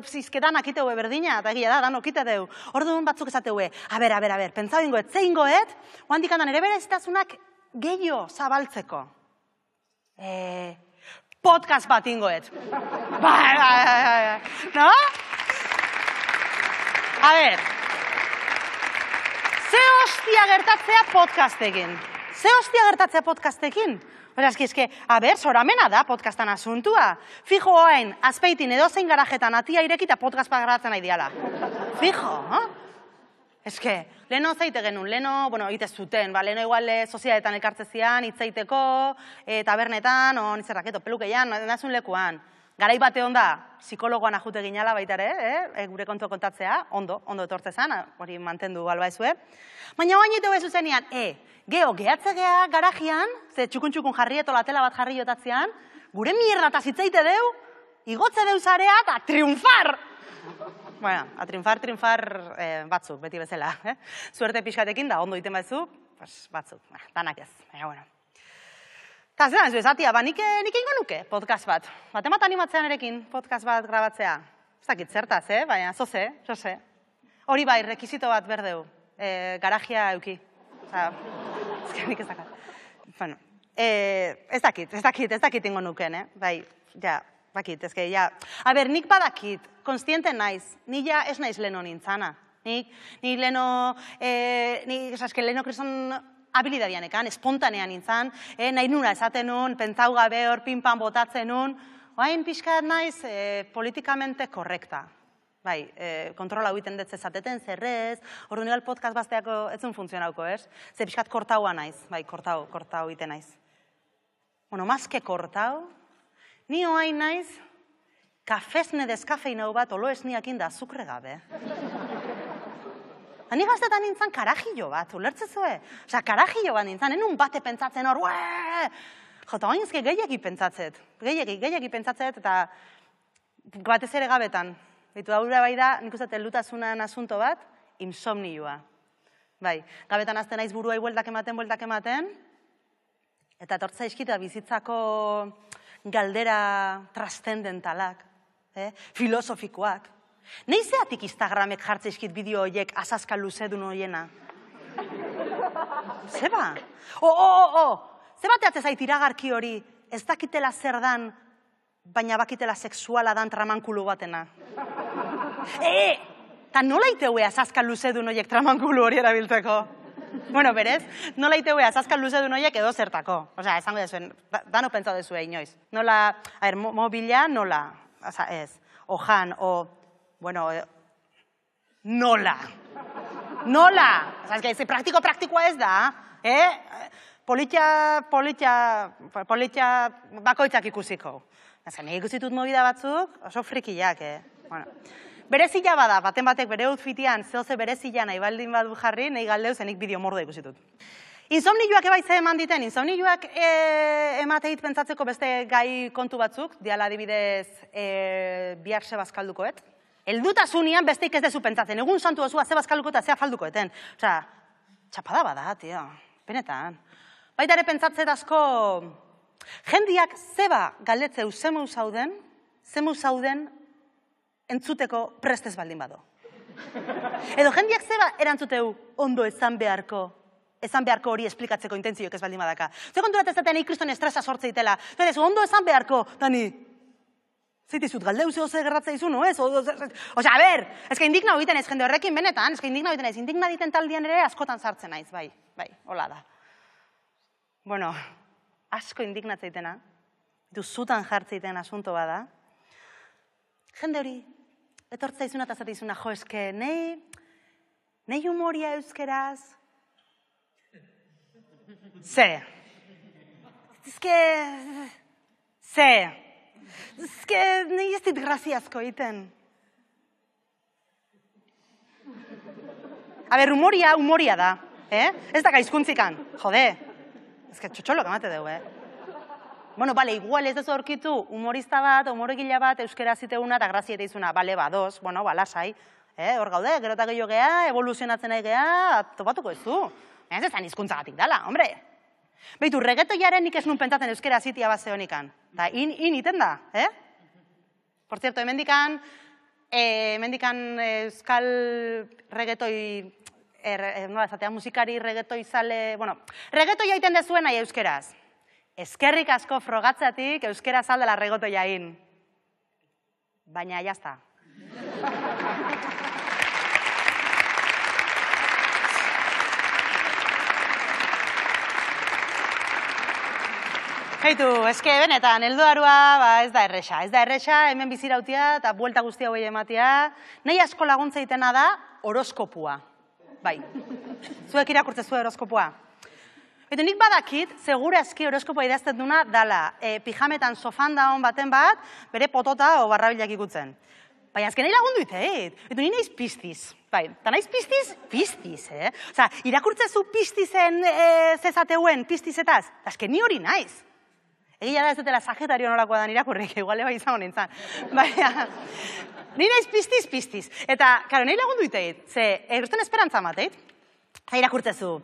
zizketan akiteue berdina, eta egia da, dan okite deu. Orduan batzuk esateue, a ber, pentsau ingoet, ze ingoet, oandik handan ere berezitasunak gehiago zabaltzeko. Podcast bat ingoet. Bai. No? A ber, ze hostia gertatzea podcastekin? Berazki, a ber, soramena da podcastan asuntua. Fijo oain, azpeitin edozein garajetan atia irekita podcast bat garatzen nahi diala. Fijo, leheno zeite genuen, leheno, ite zuten, leheno igual sozialetan elkartzezian, hitzaiteko, tabernetan, nizerraketo, pelukeian, nazun lekuan. Garai bate onda, psikologoan ajute ginala baitare, gure kontu kontatzea, ondo etortzezan, hori mantendu galba ezue. Baina oain ito bezu zenian, gehatze geha garajian, ze txukun jarri eto latela bat jarri jotatzean, gure mierdataz hitzaite deu, igotze deu zarea, eta triunfar! Bueno, a triunfar batzuk, beti bezala. Suerte pixkatekin da, ondo iten batzu, batzuk, danak ez, bueno. Eta zelan ez bezatia, nik ingo nuke podcast bat. Batemat animatzean erekin podcast bat grabatzea. Ez dakit zertaz, baina zoze. Hori bai, rekizito bat berdeu. Garajia euki. Osa, ezkenik ez dakat. Bueno, ez dakit ingo nuken, Bai, ja, bakit, ezke, ja. A ber, nik badakit, konstiente naiz, ni ja ez naiz leno nintzana. Ni leno, leno kreson habilidadian ekan, espontanean nintzan, nahi nuna esaten nun, pentsau gabe hor pinpan botatzen nun, oain pixkat naiz politikamente korrekta. Bai, kontrola huiten dut zezateten, zerrez, ordu nigal podcast bazteako etzun funtzionauko, ez? Ze pixkat kortaua naiz, bai, kortau huiten naiz. Bueno, mazke kortau, ni oain naiz, kafesne deskafeinau bat olo esniakin da azukre gabe. Ni gaztetan nintzen karajillo bat, ulertzezue? Osa, karajillo bat nintzen, enun bate pentsatzen hor, jota oinzke gehiagi pentsatzet, gehiagi pentsatzet, eta batez ere gabetan. Bitu, haura bai da, nik uste telutasunan asunto bat, insomnioa. Bai, gabetan azten naiz buruai bueltak ematen, eta tortza eskita bizitzako galdera trascendentalak, filosofikoak. Neizeatik Instagramek jartze eskit bideo horiek azazka luzedun horiena? Zeba? Zeba teatzez zait iragarki hori, ez dakitela zer dan, baina bakitela sexuala dan tramankulu batena. Eta nola iteue azazka luzedun horiek tramankulu hori erabiltzeko? Bueno, berez, nola iteue azazka luzedun horiek edo zertako. Osea, esango dezuen, dano pentsau dezue inoiz. Nola, mobila, nola, ez, ojan, bueno, nola. Osa, ez que praktikoa ez da, politia bakoitzak ikusiko. Nik ikusitut movida batzuk, oso frikiak, Bueno, berezila bada, baten batek bere outfitian, zehoze berezila nahi baldin badu jarri, nahi galdeu zenik bideo mordo ikusitut. Insomnioak ebaitze eman diten, insomnioak emateit pentsatzeko beste gai kontu batzuk, diala adibidez bihar ze bazkaldukoet. Eldutasunean besteik ez dezu pentsatzen, egun santu osua ze bazkalduko eta ze afaldukoeten. Osa, txapada bada, tio, benetan. Baita ere pentsatzet asko, jendiak zeba galdetzeu zemeu zauden entzuteko prestez baldin bado. Edo jendiak zeba erantzuteu ondo esan beharko hori esplikatzeko intentzioek ez baldin badaka. Zer konturat ez datean ikriston estresa sortze itela. Zer ondo esan beharko, Dani, zeitizut galdeu zehose gerratza izu, no ez? Osa, a ber, ezka indigna egiten ez jende horrekin benetan, ezka indigna egiten ez, indigna egiten taldian ere askotan sartzen naiz, bai, hola da. Bueno, asko indignatzeitena, zutan jartzeiten asunto bada, jende hori, etortza izuna eta zateizuna, jo, eske, nei humoria euskeraz, nei ez dit graziazko egiten. A ber, humoria da, ez da gaizkuntzikan, jode, ez que txotxolok emate dugu, Bueno, bale, igual ez dezu aurkitu humorista bat, humoregila bat, euskera ziteuna eta grazieta izuna, bale, dos, bueno, lasai, hor gaude, gero eta gehiago gea, evoluzionatzen nahi gea, topatuko ez du. Ez ezan hizkuntzagatik dala, hombre. Beitu, reggaetoiaren nik ez nun pentsatzen euskera zitia base honikan. Da, iten da, Por cierto, hemendikan euskal reggaetoi, nola esatea, musikari reggaetoi zale, bueno, reggaetoia iten dezuen nahi euskeraz. Eskerrik asko frogatzatik euskera zaldela reggaetoia egin. Baina, jazta. Heitu, eske benetan, helduarua ez da erresa, hemen bizirautia eta buelta guztia hoi ematia. Nahi asko laguntza itena da horoskopua. Bai, zuek irakurtzezu horoskopua. Eta nik badakit, segurazki horoskopoa idazten duna dala, pijametan sofan daun baten bat, bere potota o barrabilak ikutzen. Baina azken nahi lagundu iteit, eta ni naiz piztiz. Bai, eta naiz piztiz, Osa, irakurtzezu piztizen zezateuen piztizetaz, azken ni hori naiz. Egia da ez dutela Sagitario nolakoa da irakurrik, igual eba izango nintzen. Baina, ni naiz piztiz. Eta, karo, nahi lagundu iteit, ze, erusten esperantza mateit, eta irakurtzezu,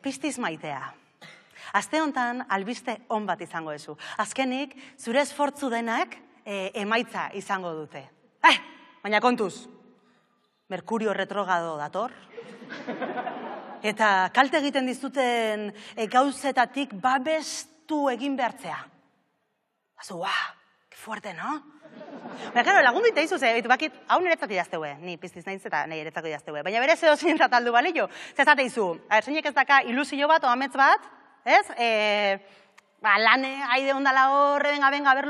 piztiz maitea. Aste hontan, albiste on bat izango ezu. Azkenik, zure esfortzu denak emaitza izango dute. Baina kontuz, Merkurio retrogrado dator. Eta kalte egiten dizuten gauzetatik babestu egin behartzea. Azu, que fuerte, no? Baina, claro, lagundu ite izuz, bakit, hau niretzako idazteue, ni piztiz nahiz eta niretzako idazteue. Baina bere zeo zintzat aldu balio. Zezate izu, zeinek ez daka ilusio bat, oamets bat, ez? Lane, haide ondala horre, benga, aber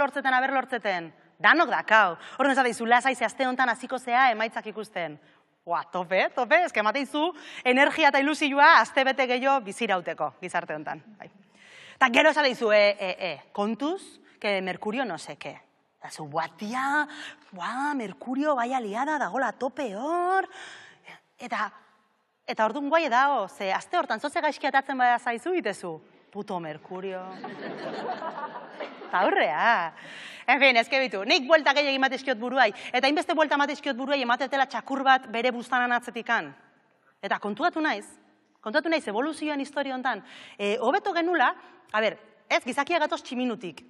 lortzeten. Danok dakau. Horren zate izu, lasaize aste hontan hasiko zea emaitzak ikusten. Tope, eske emate izu, energia eta ilusioa aste bete gehiago bizirauteko, gizarte hontan. Eta gero zate izu, kontuz, que Merkurio no seke. Eta zu, tia, Merkurio baia liada dagola tope hor. Eta orduan guai edao, ze aste hortan zoze gaizki atatzen bada zaizu itezu. Puto Merkurio. Eta horrea. En fin, ezke bitu, nik buelta gehiagin matizkiot buruai. Eta inbeste buelta matizkiot buruai ematetela txakur bat bere buztanan atzetikan. Eta kontuatu naiz evoluzioan historia hontan. Hobeto genula, ez gizakia gatoz tximinutik.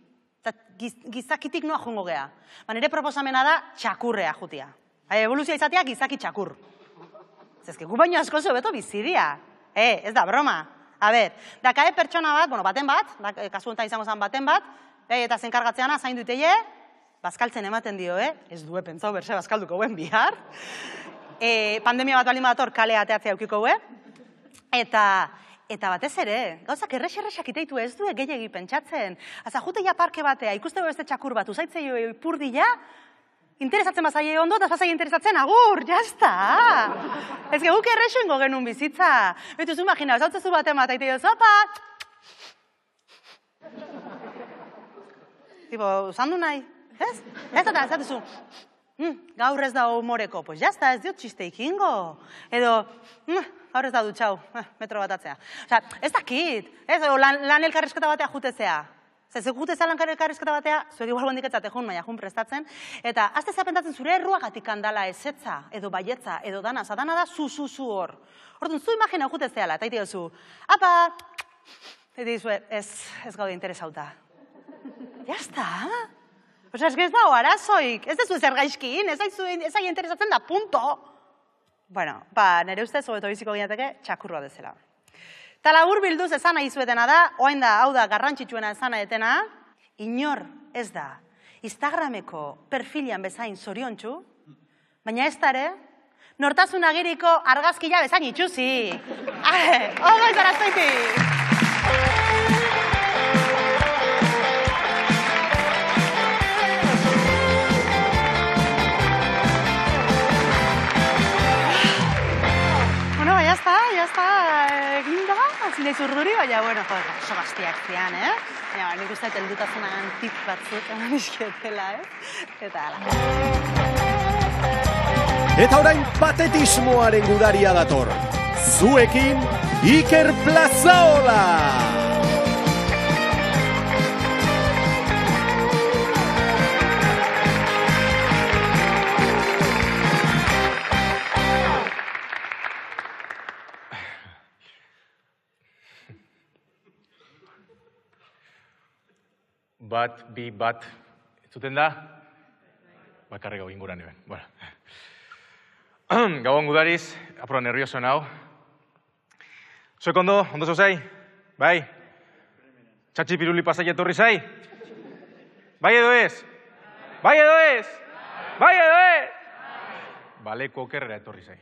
Gizakitik noa jongo geha. Nire proposamena da txakurrea jutia. Evoluzioa izatea gizaki txakur. Zezke, gu baino asko hobeto bizidia. Ez da broma. Dakae pertsona bat, baten bat, kasu honetan izango zen baten bat, eta zenkargatzeana zaindu iteie, bazkaltzen ematen dio, ez due pentsau berse bazkalduko guen bihar. Pandemia bat balin badator kale ateatzea eukiko guen. Eta batez ere, gauzak errex-errexak iteitu ez du gehiagi pentsatzen. Aza, juteia parke batea, ikuste beste txakur bat, uzaitzei ipurdila, interesatzen bazaie ondo, eta bazaie interesatzen, agur, jazta! Ez guk errexo ingo genuen bizitza. Betu zu imagina, zautzezu baten bat, aite jo, zopa! Tipo, usandu nahi, ez? Ez eta ez zu, gaur ez da humoreko, pues jazta, ez diot txisteik ingo. Edo, gaur ez da dutxau, metro bat atzea. Osa, ez dakit, ez, lan elkarrezketa batea jutezea. Zezek jutezea lan elkarrezketa batea, zuek igual gondiketzate jun, maia jun prestatzen, eta azte zapentatzen zure erruagatik handala ezetza, edo baietza, edo dana, dana da zu hor. Orduan, zu imagina jutezeala, eta ite zu, apa, eta dizue, ez gaude interesauta. Jazta, osa, ez da arazoik, ez dezu ezer gaizkin, ez ahi interesatzen da, punto. Bueno, nire ustez, hobeto biziko ginateke, txakurroa dezela. Eta labur bilduz esan nahi zuetena da, oain da, hau da, garrantzitsuena esan nahi etena, inor ez da, Instagrameko perfilian bezain zoriontsu, baina ez dare, nortasun agiriko argazkila bezain itxuzi. Ogo izarazoitik! Ya está, eginda, zinez urduri, baina, bueno, oso gaztiak zian, Baina, nik uste heldutazuna tip batzuk eman izkietela, Eta, ala. Eta orain patetismoaren gudaria dator. Zuekin, Iker Plazaola! Bat, bi, bat, zuten da? Bakarri gau inguran eben. Bueno. Gauan gudariz, apuro nervioso nau. Zuek ondo zauzai? Bai? Txatxi piruli pasai etorri zai? Bai edo ez? Bai edo ez? Bai edo ez? Baleko okerrera etorri zai.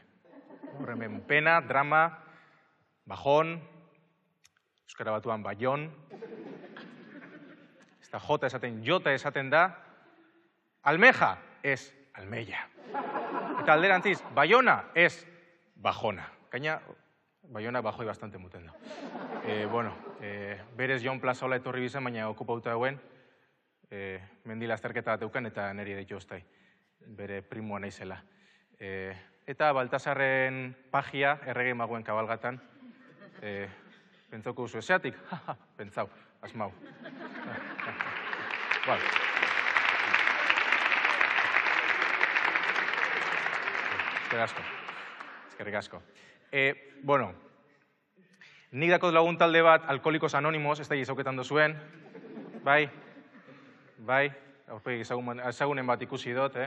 Horremen pena, drama, bajon, Euskara Batuan baion, ez da jota esaten, jota esaten da, almeja ez almeia. Eta alderantziz, baiona ez bajona. Gaina, baiona bajoi bastante muten da. Berez Jon Plazaola etorri bizen, baina okupauta dauen, mendila azterketa bat euken eta niri deitu oztai. Bere primua naizela. Eta Baltasarren pagia, errege maguen kabalgatan, pentsauko duzu eseatik, pentsau, asmau. Eskerrik asko. Nik dakot lagun talde bat, Alkoholikos Anonimos, ez da gizauketan dozuen. Bai, aurpegi ezagunen bat ikusi dut,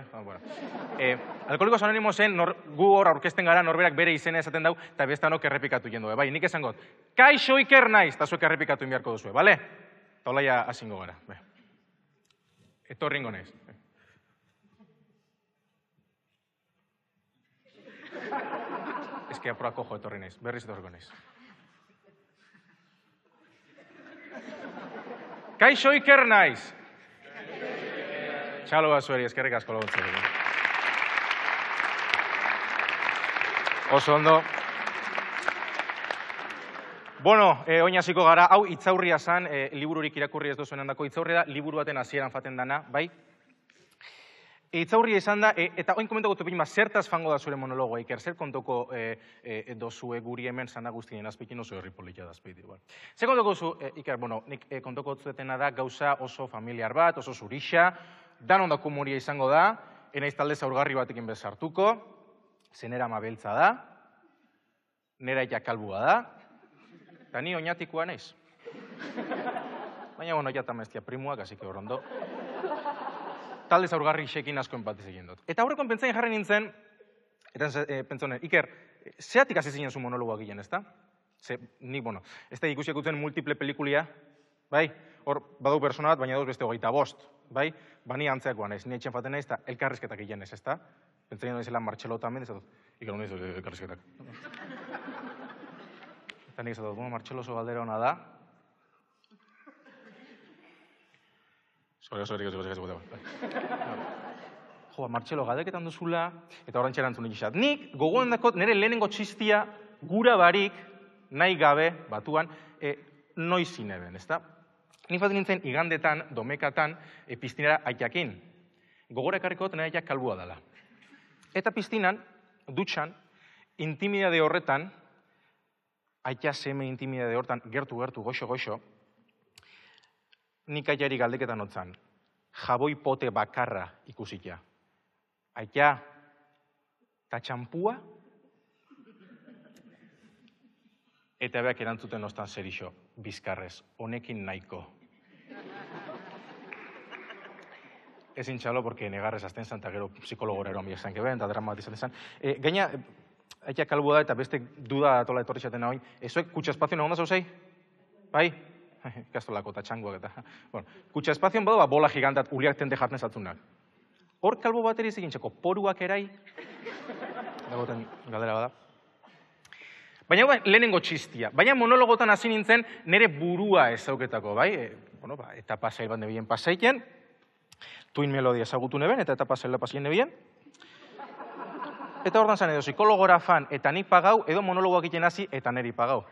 Alkoholikos Anonimosen gu hor aurkezten gara norberak bere izena esaten dau, eta bestanok errepikatu jendu. Bai, nik esangot, kaixo Iker naiz, eta zuek errepikatu inbiarko duzue, bale? Eta olaia hasingo gara. Etorringo naiz. Ez que apurako jo etorri naiz, berriz etorriko naiz. Kaixo Iker naiz. Txalo bazueri, eskerrik asko laguntzen. Oso ondo. Bueno, oin hasiko gara, hau itzaurria zan, libururik irakurri ez duzuen handako itzaurria da, liburu baten hasieran faten dana, bai? Itzaurria izan da, eta oin komentako topin, zertaz fango da zure monologoa, Iker, zer kontoko dozue guri hemen zana guztien azpikin oso herri politia da azpiti. Zer kontoko zu, Iker, bueno, nik kontoko zuetena da gauza oso familiar bat, oso zurixa, dan ondako humoria izango da, enaiz talde zaurgarri batekin bezartuko, zenera mabeltza da, nera jakalbua da, eta ni oinatikoa naiz. Baina, bueno, jata maiztia primuak, así que horrondo. Talde zaurgarri xekin asko empatiz egin dut. Eta aurrekon pentsain jarri nintzen, eta pentsonen, Iker, zeatik hasi zinen zu monologoa gilen, ezta? Nik, bueno, ez da ikusiak utzen multiple pelikulia, bai? Hor, badau persona bat, baina dauz beste 25, bai? Bani antzeakoa naiz, ni etxen faten naiz, eta elkarrizketak egin ez, ezta? Pentsain naizela Martxelo tamen, ez dut, Iker, honi elkarrizketak. Eta nik ez dut, bueno, Martxelo oso galdera hona da. Jo, Martxelo, galdeketan duzula, eta horrentxe erantzun egizat. Nik, gogoan dakot, nire lehenengo txistia gura barik, nahi gabe, batuan, noiz zineben, ezta? Nik faten nintzen, igandetan, domekatan, piztinara aitakin. Gogora ekarriko nire aitak kalbua dela. Eta piztinan, dutxan, intimidade horretan, aita seme intimidade horretan, gertu, goxo, nik aitari galdeketan otzan, jaboi pote bakarra ikusikia. Aita, ta txampua? Eta beak erantzuten ostan zerixo, bizkarrez, honekin nahiko. Ezin txalo, porque negarrez azten zan, eta gero psikologora eroan biak zanke ben, eta dramatizaten zan. Gaina, aita kalbua da, eta beste duda atola etorri zaten hau, ezoek kutsa espazio nagoen da zauzei? Bai? Ikastolako eta txangoak eta. Kutsa espazioan badu, bola gigantat uriak tente jartzen zatzunak. Hor kalbo bateri egintxeko poruak erai, dagoten galdera bada. Baina lehenengo txistia. Baina monologotan hasi nintzen nire burua ezauketako, bai? Etapa zail bat nebien pasaiken, tuin melodia ezagutu neben, eta etapa zaila pasien nebien. Eta hortan zan edo psikologora fan, eta nik pagau, edo monologoak egiten hasi, eta niri pagau.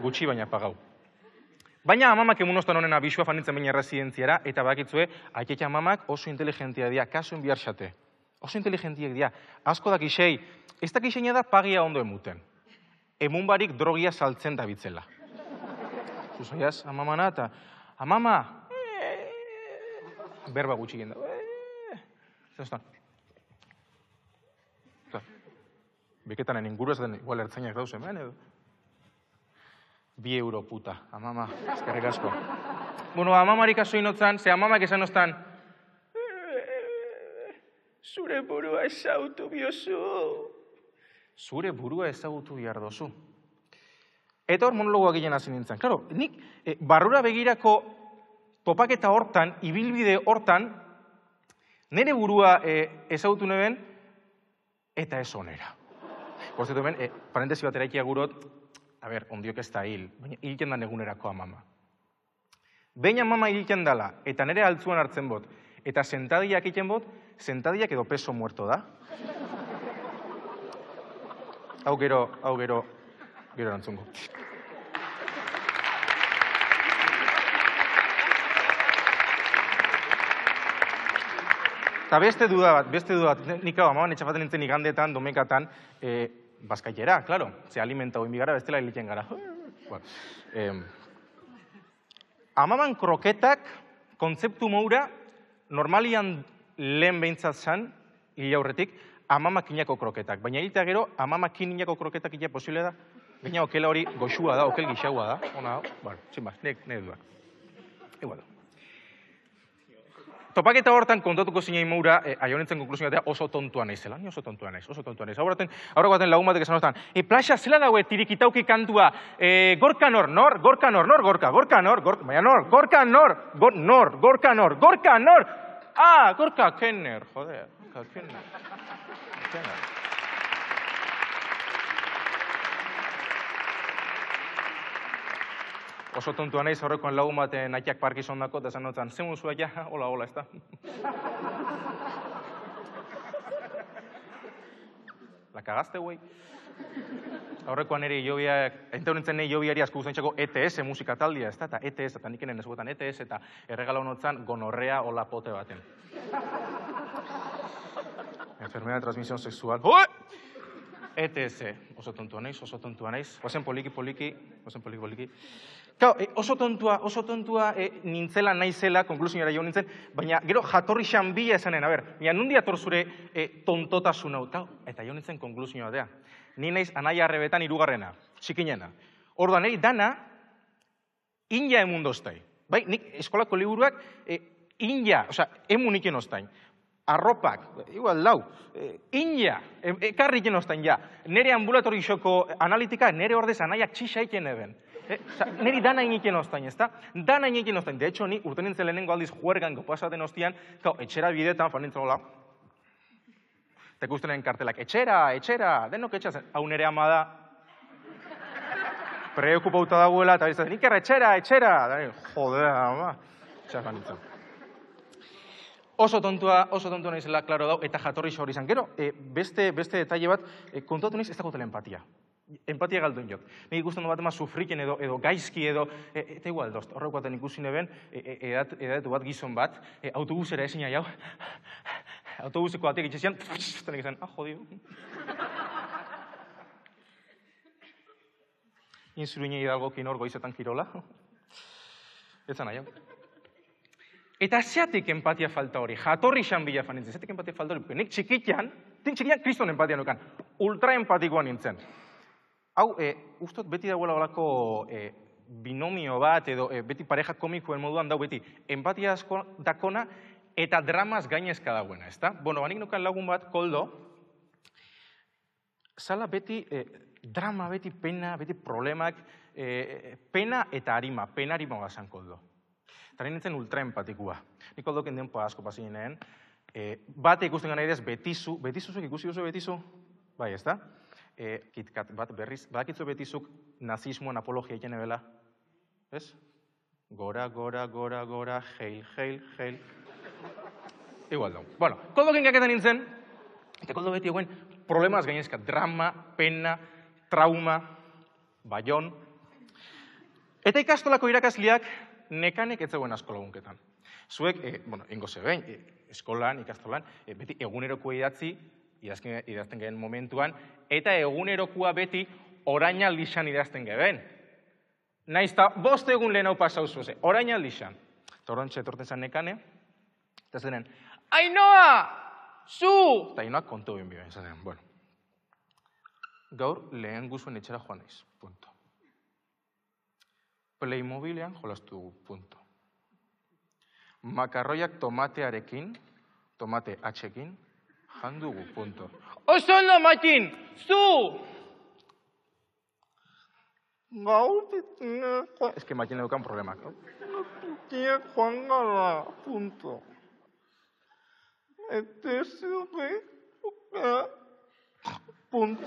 Gutxi baina pagau. Baina amamak emunostan honen abisua fanintzen baina erresidentziara, eta bakitzue, aietxa amamak oso inteligentia dia, kasuen biharxate. Oso inteligentiek dia. Asko dakisei, ez dakiseina da pagia ondo emuten. Emun barik drogia saltzen da bitzela. Zuzoiaz, amamana, eta amama, berba gutxi genda. Zerostan. Beketanen inguru ez den, igual ertzainak dauz hemen, edo. 2 euro puta, amama, eskerrik asko. Bueno, amamarik aso inotzan, ze amamak esan oztan, zure burua ezagutu biozu. Zure burua ezagutu behar dozu. Eta hor monologoak egin hasi nintzen. Claro, nik barrura begirako topaketa hortan, ibilbide hortan, nire burua ezagutu neben, eta ez onera. Por zertu hemen, parentesi bat eraikia gurot, a ber, ondiok ez da hil, baina hilken da negunerako amama. Behin amama hilken dala, eta nire altzuan hartzen bot, eta sentadiak egiten bot, sentadiak edo peso muerto da. Hau gero erantzungo. Eta beste duda bat, nik hau amaban etxafaten nintzen igandetan, domekatan, bazkaitera, klaro, ze alimenta hoin bigara, bestela hiliten gara. Amaban kroketak, kontzeptu moura, normalian lehen behintzat zan, hil aurretik, amamak inako kroketak. Baina hiltea gero, amamak inako kroketak ila posible da. Baina okela hori goxua da, okel gixaua da. Ona, bueno, sin más, nire duak. Igual. Topaketa hortan kontatuko zinein moura, aionetzen konklusioa oso tontua naizela. Ni oso tontua naiz. Aurreko baten lagun batek esan hortan, plaxa zela daue tirikitauki kantua, gorka nor, gorka nor. Ah, Gorka Kenner, joder, Gorka Kenner. Oso tontua naiz horrekoan lagun baten nahiak Parkinson dako, eta esan notzen, zemun zua ja, hola, ez da. La cagaste, güey. Aurrekoan ere ente honetzen nahi jobiari asko guztaintzako ETS musika taldia, ez da, eta ETS, eta nik enen ezuetan ETS, eta erregala honotzen gonorrea hola pote baten. Enfermedad de transmisión sexual. ETS, oso tontua naiz. Oazen poliki. Kau, oso tontua nintzela naizela, konklusiora jo nintzen, baina gero jatorri xanbila esanen, nundi ator zure tontotasun hau, eta jo nintzen konklusioa dea. Ni naiz anaia arrebetan irugarrena, txikinena. Orduan, niri dana, inja emundoztai. Bai, nik eskolako liburuak inja, emuniken oztain. Arropak, igual lau, inja, ekarriken oztain, ja. Nere ambulatori xoko analitika, nere ordez anaiak txixaiken eben. Neri dana iniken oztain, ezta? Dana iniken oztain. De hecho, ni urte nintzen lehenengo aldiz juergan gopasaten oztian, etxera bidetan, fan nintzen hola. Eta ikusten kartelak, etxera, denok etxera, hau nere ama da. Preokupauta dagoela, eta bizatzen, ikerra, etxera. Joder, ama. Etxera fan nintzen. Oso tontua naizela, klaro dau, eta jatorri xaur izan. Gero, beste detalle bat, kontatu naiz ez dagotela empatia. Empatia galduen jok. Nik ikusten du bat ema sufriken edo gaizki edo, eta igual dozt, horreko baten ikusi neben, edatu bat gizon bat, autobusera ezin jau, autobuseko batek itxezian, eta nik esan, jodio. Inzuruinei hidalgokin hor goizetan kirola. Etzan nahi, Eta zeatik empatia falta hori, jatorri xanbila fanintzen, zeatik empatia falta hori, nik txikitan kriston empatia nukan, ultra empatikoa nintzen. Hau, ustot beti dagoela olako binomio bat, edo beti pareja komikoen moduan dau beti, empatia asko dakona eta dramaz gainezka dagoena, ezta? Bueno, banik nukan lagun bat, Koldo, zala beti drama, beti pena, beti problemak, pena eta harima gazan Koldo. Eta nintzen ultra empatikua. Nik Koldoken denpoa asko pasineen, bate ikusten gana idez betizuzuk ikusi duzu betizu? Bai, ezta? KitKat bat berriz, badakitzu betizuk nazismoan apologia egiten ebela? Ez? Gora, heil. Igual dau. Bueno, Koldoken gaketan nintzen, eta Koldo beti eguen problemaz gainezka, drama, pena, trauma, baion. Eta ikastolako irakasliak nekanek ez zegoen asko lagunketan. Zuek, ingo zebein, eskolan, ikastolan, beti egunerokoa idazten gehen momentuan, eta egunerokoa beti orainaldixan idazten gehen. Naizta, 5 egun lehen hau pasau zuze, orainaldixan. Eta orantxe etorten zan nekane, eta zenen, Ainoa! Zu! Eta Ainoak kontu egin biben, zaten, bueno. Gaur lehen guzuen etxera joan naiz, punto. Playmobilean jolastu dugu, punto. Makarroiak tomatearekin, tomate atxekin, jandugu, punto. Oso ondo, Matin! Zu! Gaur ditu... Ez que Matin edukan problemak. Tiak joan gara, punto. Eta zube... Punto.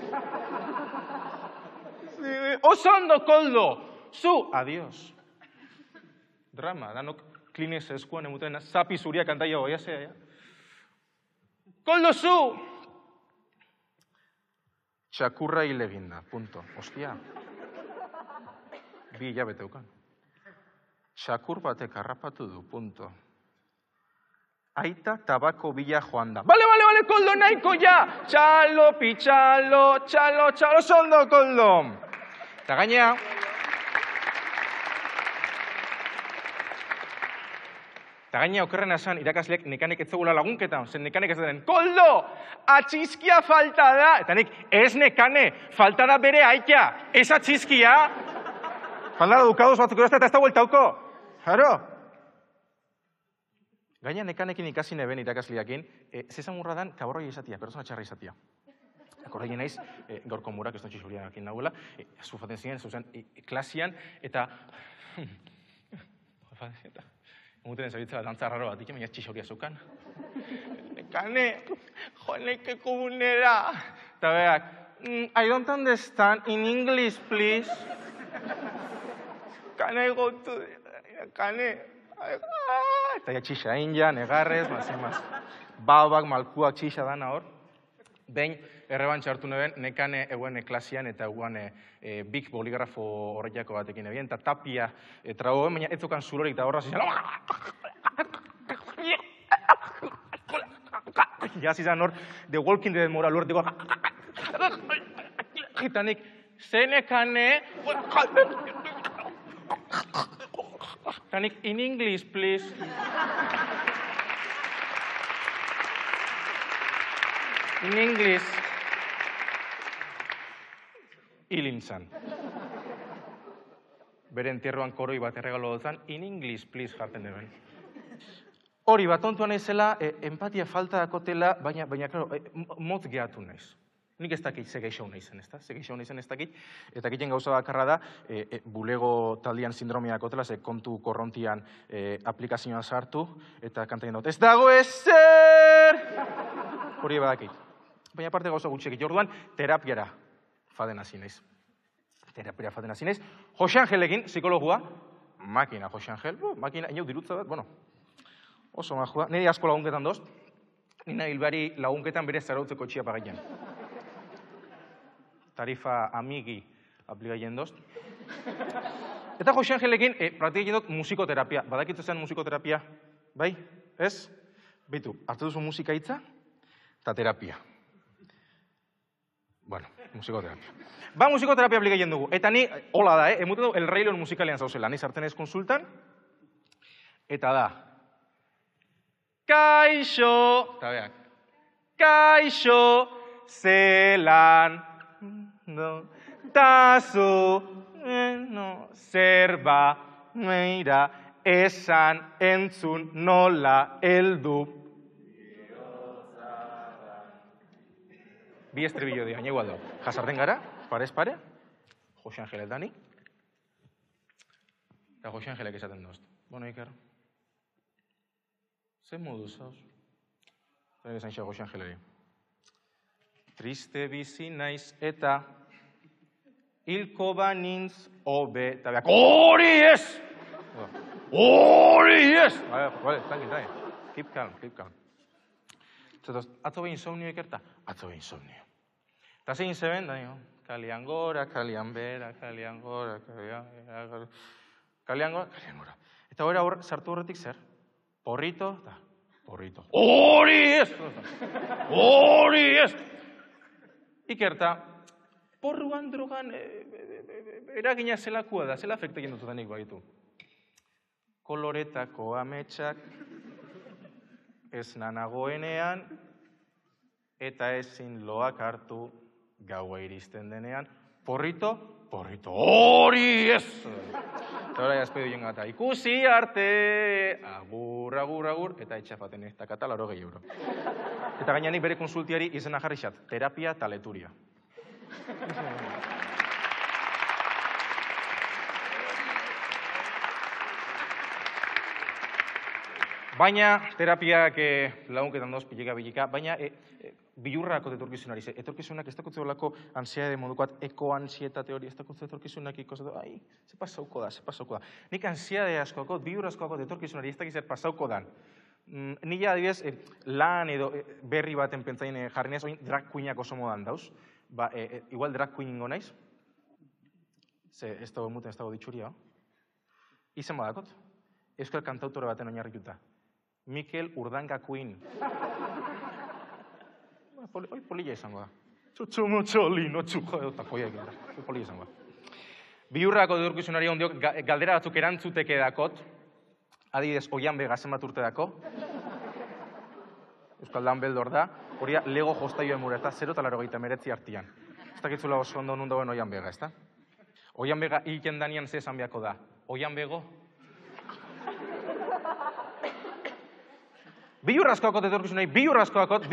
Oso ondo, Koldo! Zu! Adiós. Drama, danok Kleenex eskuan emuten, zapi zuria kantaia goia zea, ja? Koldo, zu! Txakurra hile ginda, punto. Ostia. 2 hilabete eukan. Txakur batek harrapatu du, punto. Aita tabako bila joan da. Bale, Koldo, nahiko ja! Txalo, pitxalo, txalo, sondo, Koldo! Eta gainea... Eta gaina okerrena esan irakasleak nekanek ez zegula lagunketan, zen nekanek ez den, Koldo, atxizkia falta da! Eta nik, ez nekane, falta da bere aita, ez atxizkia! Falta da dukados batzuk eta ez da bueltauko. Jaro, Gaina nekanekin ikasi neben irakasliakin, zezamurra dan kaborroi izatia, persona txarra izatia. Akordaien naiz, gaurko murak ez dontxe xurian akin nahuela, zufaten ziren, zuzen, klasian, eta... Muteren zabitzela dantza raro bat, baina txixoria zeukan. Nekane, joanekeko bunera. Eta beak, I don't understand, in English, please. Can I go to... Kane... Eta ja txixa inja, negarrez, mazimaz. Babak, malkuak txixa dana hor. Behin, errebantxa hartu neben, nekane eguen klasian eta eguen big boligrafo horretako batekin ebien, eta tapia trago, baina ez zokan zulorik eta horra zizan. Jazizan hor, The Walking Dead moral hor, eta nik, zenekane... Kanik, in English, please. In English. Hilintzan. Bere entierroan koroi bat erregalo dutzen, in English, please, jarten deben. Hori, bat ontuan ezela, empatia falta dakotela, baina, klaro, motz gehatu naiz. Nik ez dakit ze geixau naizen, ez da? Ze geixau naizen ez dakit. Eta egiten gauza bakarra da, bulego taldian sindromia dakotela, ze kontu korrontian aplikazioan sartu, eta kantaien dut, ez dago ezer! Hori badakit. Baina parte gauza gutxekit. Orduan, terapiara faden hasi naiz. Terapiara faden hasi naiz. Jose Angelekin, psikologua, makina Jose Angel, makina, inau dirutza bat, bueno, oso majua. Niri asko lagunketan dozt, nina hilbari lagunketan bere zarautzeko txia pagaian. Tarifa amigi aplikatzen dozt. Eta Jose Angelekin praktikatzen dut musikoterapia. Badakitzu zen musikoterapia? Bai? Ez? Bitu, hartu duzu musika hitza eta terapia. Bueno, musikoterapia. Ba, musikoterapia aplikatzen dugu. Eta ni, hola da, emute du, El Rey León musikalean zauzela. Ni sartzen ez konsultan. Eta da. Kaixo! Eta beak. Kaixo! Zelan! No, tazu, no, zerba, meira, esan, entzun, nola, eldu. Bi estribillo dira, igual da. Jasarten gara, parez pare, Jose Angel Dani, eta Jose Angelek esaten dozt. Bueno, Iker, ze modu zauz? Eta esan xa Jose Angeleri. Triste bizi naiz eta hilko banintz obe, eta beak, hori ez! Hori ez! Vale, tranqui. Keep calm. Zetoz, atzo behin insomnio ikerta? Atzo behin insomnio. Eta zein zeben, da, kalian gora, kalian bera, kalian gora, kalian gora. Eta hor sartu horretik zer? Porrito, eta porrito. Hori ez! Hori ez! Ikerta, porruan drogan eragina zelakua da, zela afekta egin dututanik baitu. Koloretako ametsak ez nanagoenean eta ezin loak hartu gaua iristen denean. Porrito, hori ez! Eta hori azpedu joan gata, ikusi arte, agur, eta etxafaten ez dakata 80 euro. Eta gainenik bere konsultiari izena jarri xat, terapia taleturia. Baina, terapiak lagunketan doz, bilika, baina bilurrako etorkizunari. Etorkizunak ez dakotze olako ansiedade modukoat, ekoansietate hori, ez dakotze etorkizunak ikosatu, ai, ze pasauko da. Nik ansiedade askoako, bilur askoako etorkizunari ez dakiz pasauko dan. Nila adibidez, lan edo berri baten pentsain jarri nez, oin drag queenak oso modan dauz. Ba, igual drag queen ingo naiz. Ze, ez dago emuten, ez dago ditxuria. Izen badakot. Euskal kantautore baten oinarrituta. Mikel Urdanga Queen. Hoi polilla izango da. Txotxomotxoli, notxuko edo takoia egin da. Hoi polilla izango da. Biurrako edurkizunari ondiok galdera batzuk erantzuteke dakot. Adibidez, Oian Bega zenbat urte dako. Euskaldan beldor da. Hori Lego jostaioen mura, ez da, 0 eta 89 artian. Ez dakitzula oso ondo nun dagoen Oian Bega, ez da? Oian Bega hilken danian ze esan beharko da. Oian Bego? Bilurrazkoakot etorkizunei, bilurrazkoakot,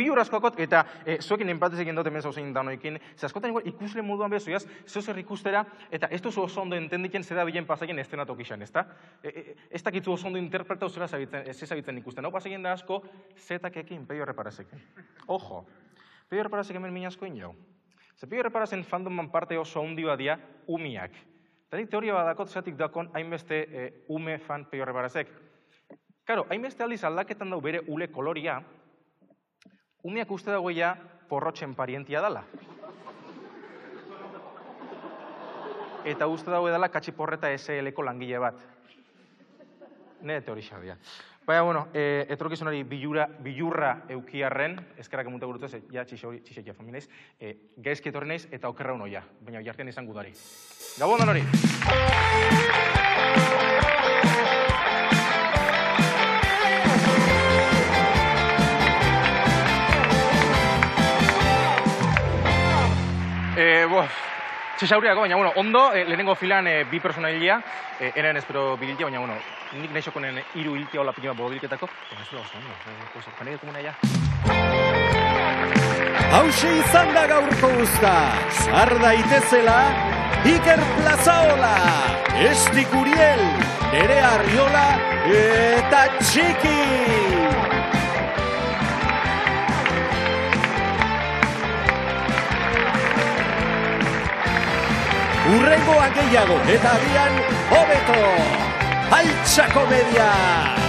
eta zuekin empatez egin dut hemen zauzein danoekin, ze askotan igual ikusle moduan bezuiaz, zer ikustera, eta ez duzu oso ondo entendiken zera bilen pasaien estenatu kixan, ezta? Ez dakitzu oso ondo interpretau zera zabitzen ikusten. Hau pasaien da asko, zetakekin Peio Erreparazeken. Ojo, Peio Erreparazek hemen minazkoin jau. Ze Peio Erreparazen fandoman parte oso handi badia umiak. Eta nik teoria badakot zatik dakon hainbeste ume fan Peio Erreparazek. Karo, hainbeste aldiz aldaketan dau bere ule koloria, umeak uste dagoia porrotxen parientia dala. Eta uste dago edala Katxiporreta SL-ko langile bat. Nire teorixak dira. Baina, bueno, etorkizunari bilurra eukiarren, eskerrak emunte gurutuz, ja txixekia familiz, gaizki etorri naiz eta okerra unoia, baina jartian izan gudari. Gabon dan hori! Txixauriako, baina, bueno, ondo, lehenengo filan bi personailia, eren espero bililtia, baina, bueno, nik nahizokonen hiru hiltia hola pikima bobilketako, baina ez da oso ondo, kanei komuna ja. Hauxe izan da gaurko uzta, zar daitezela, Iker Plazaola, Estik Uriel, Nerea Arriola eta Txiki! Urrengoan gehiago eta agian hobeto, Altxa Komedia!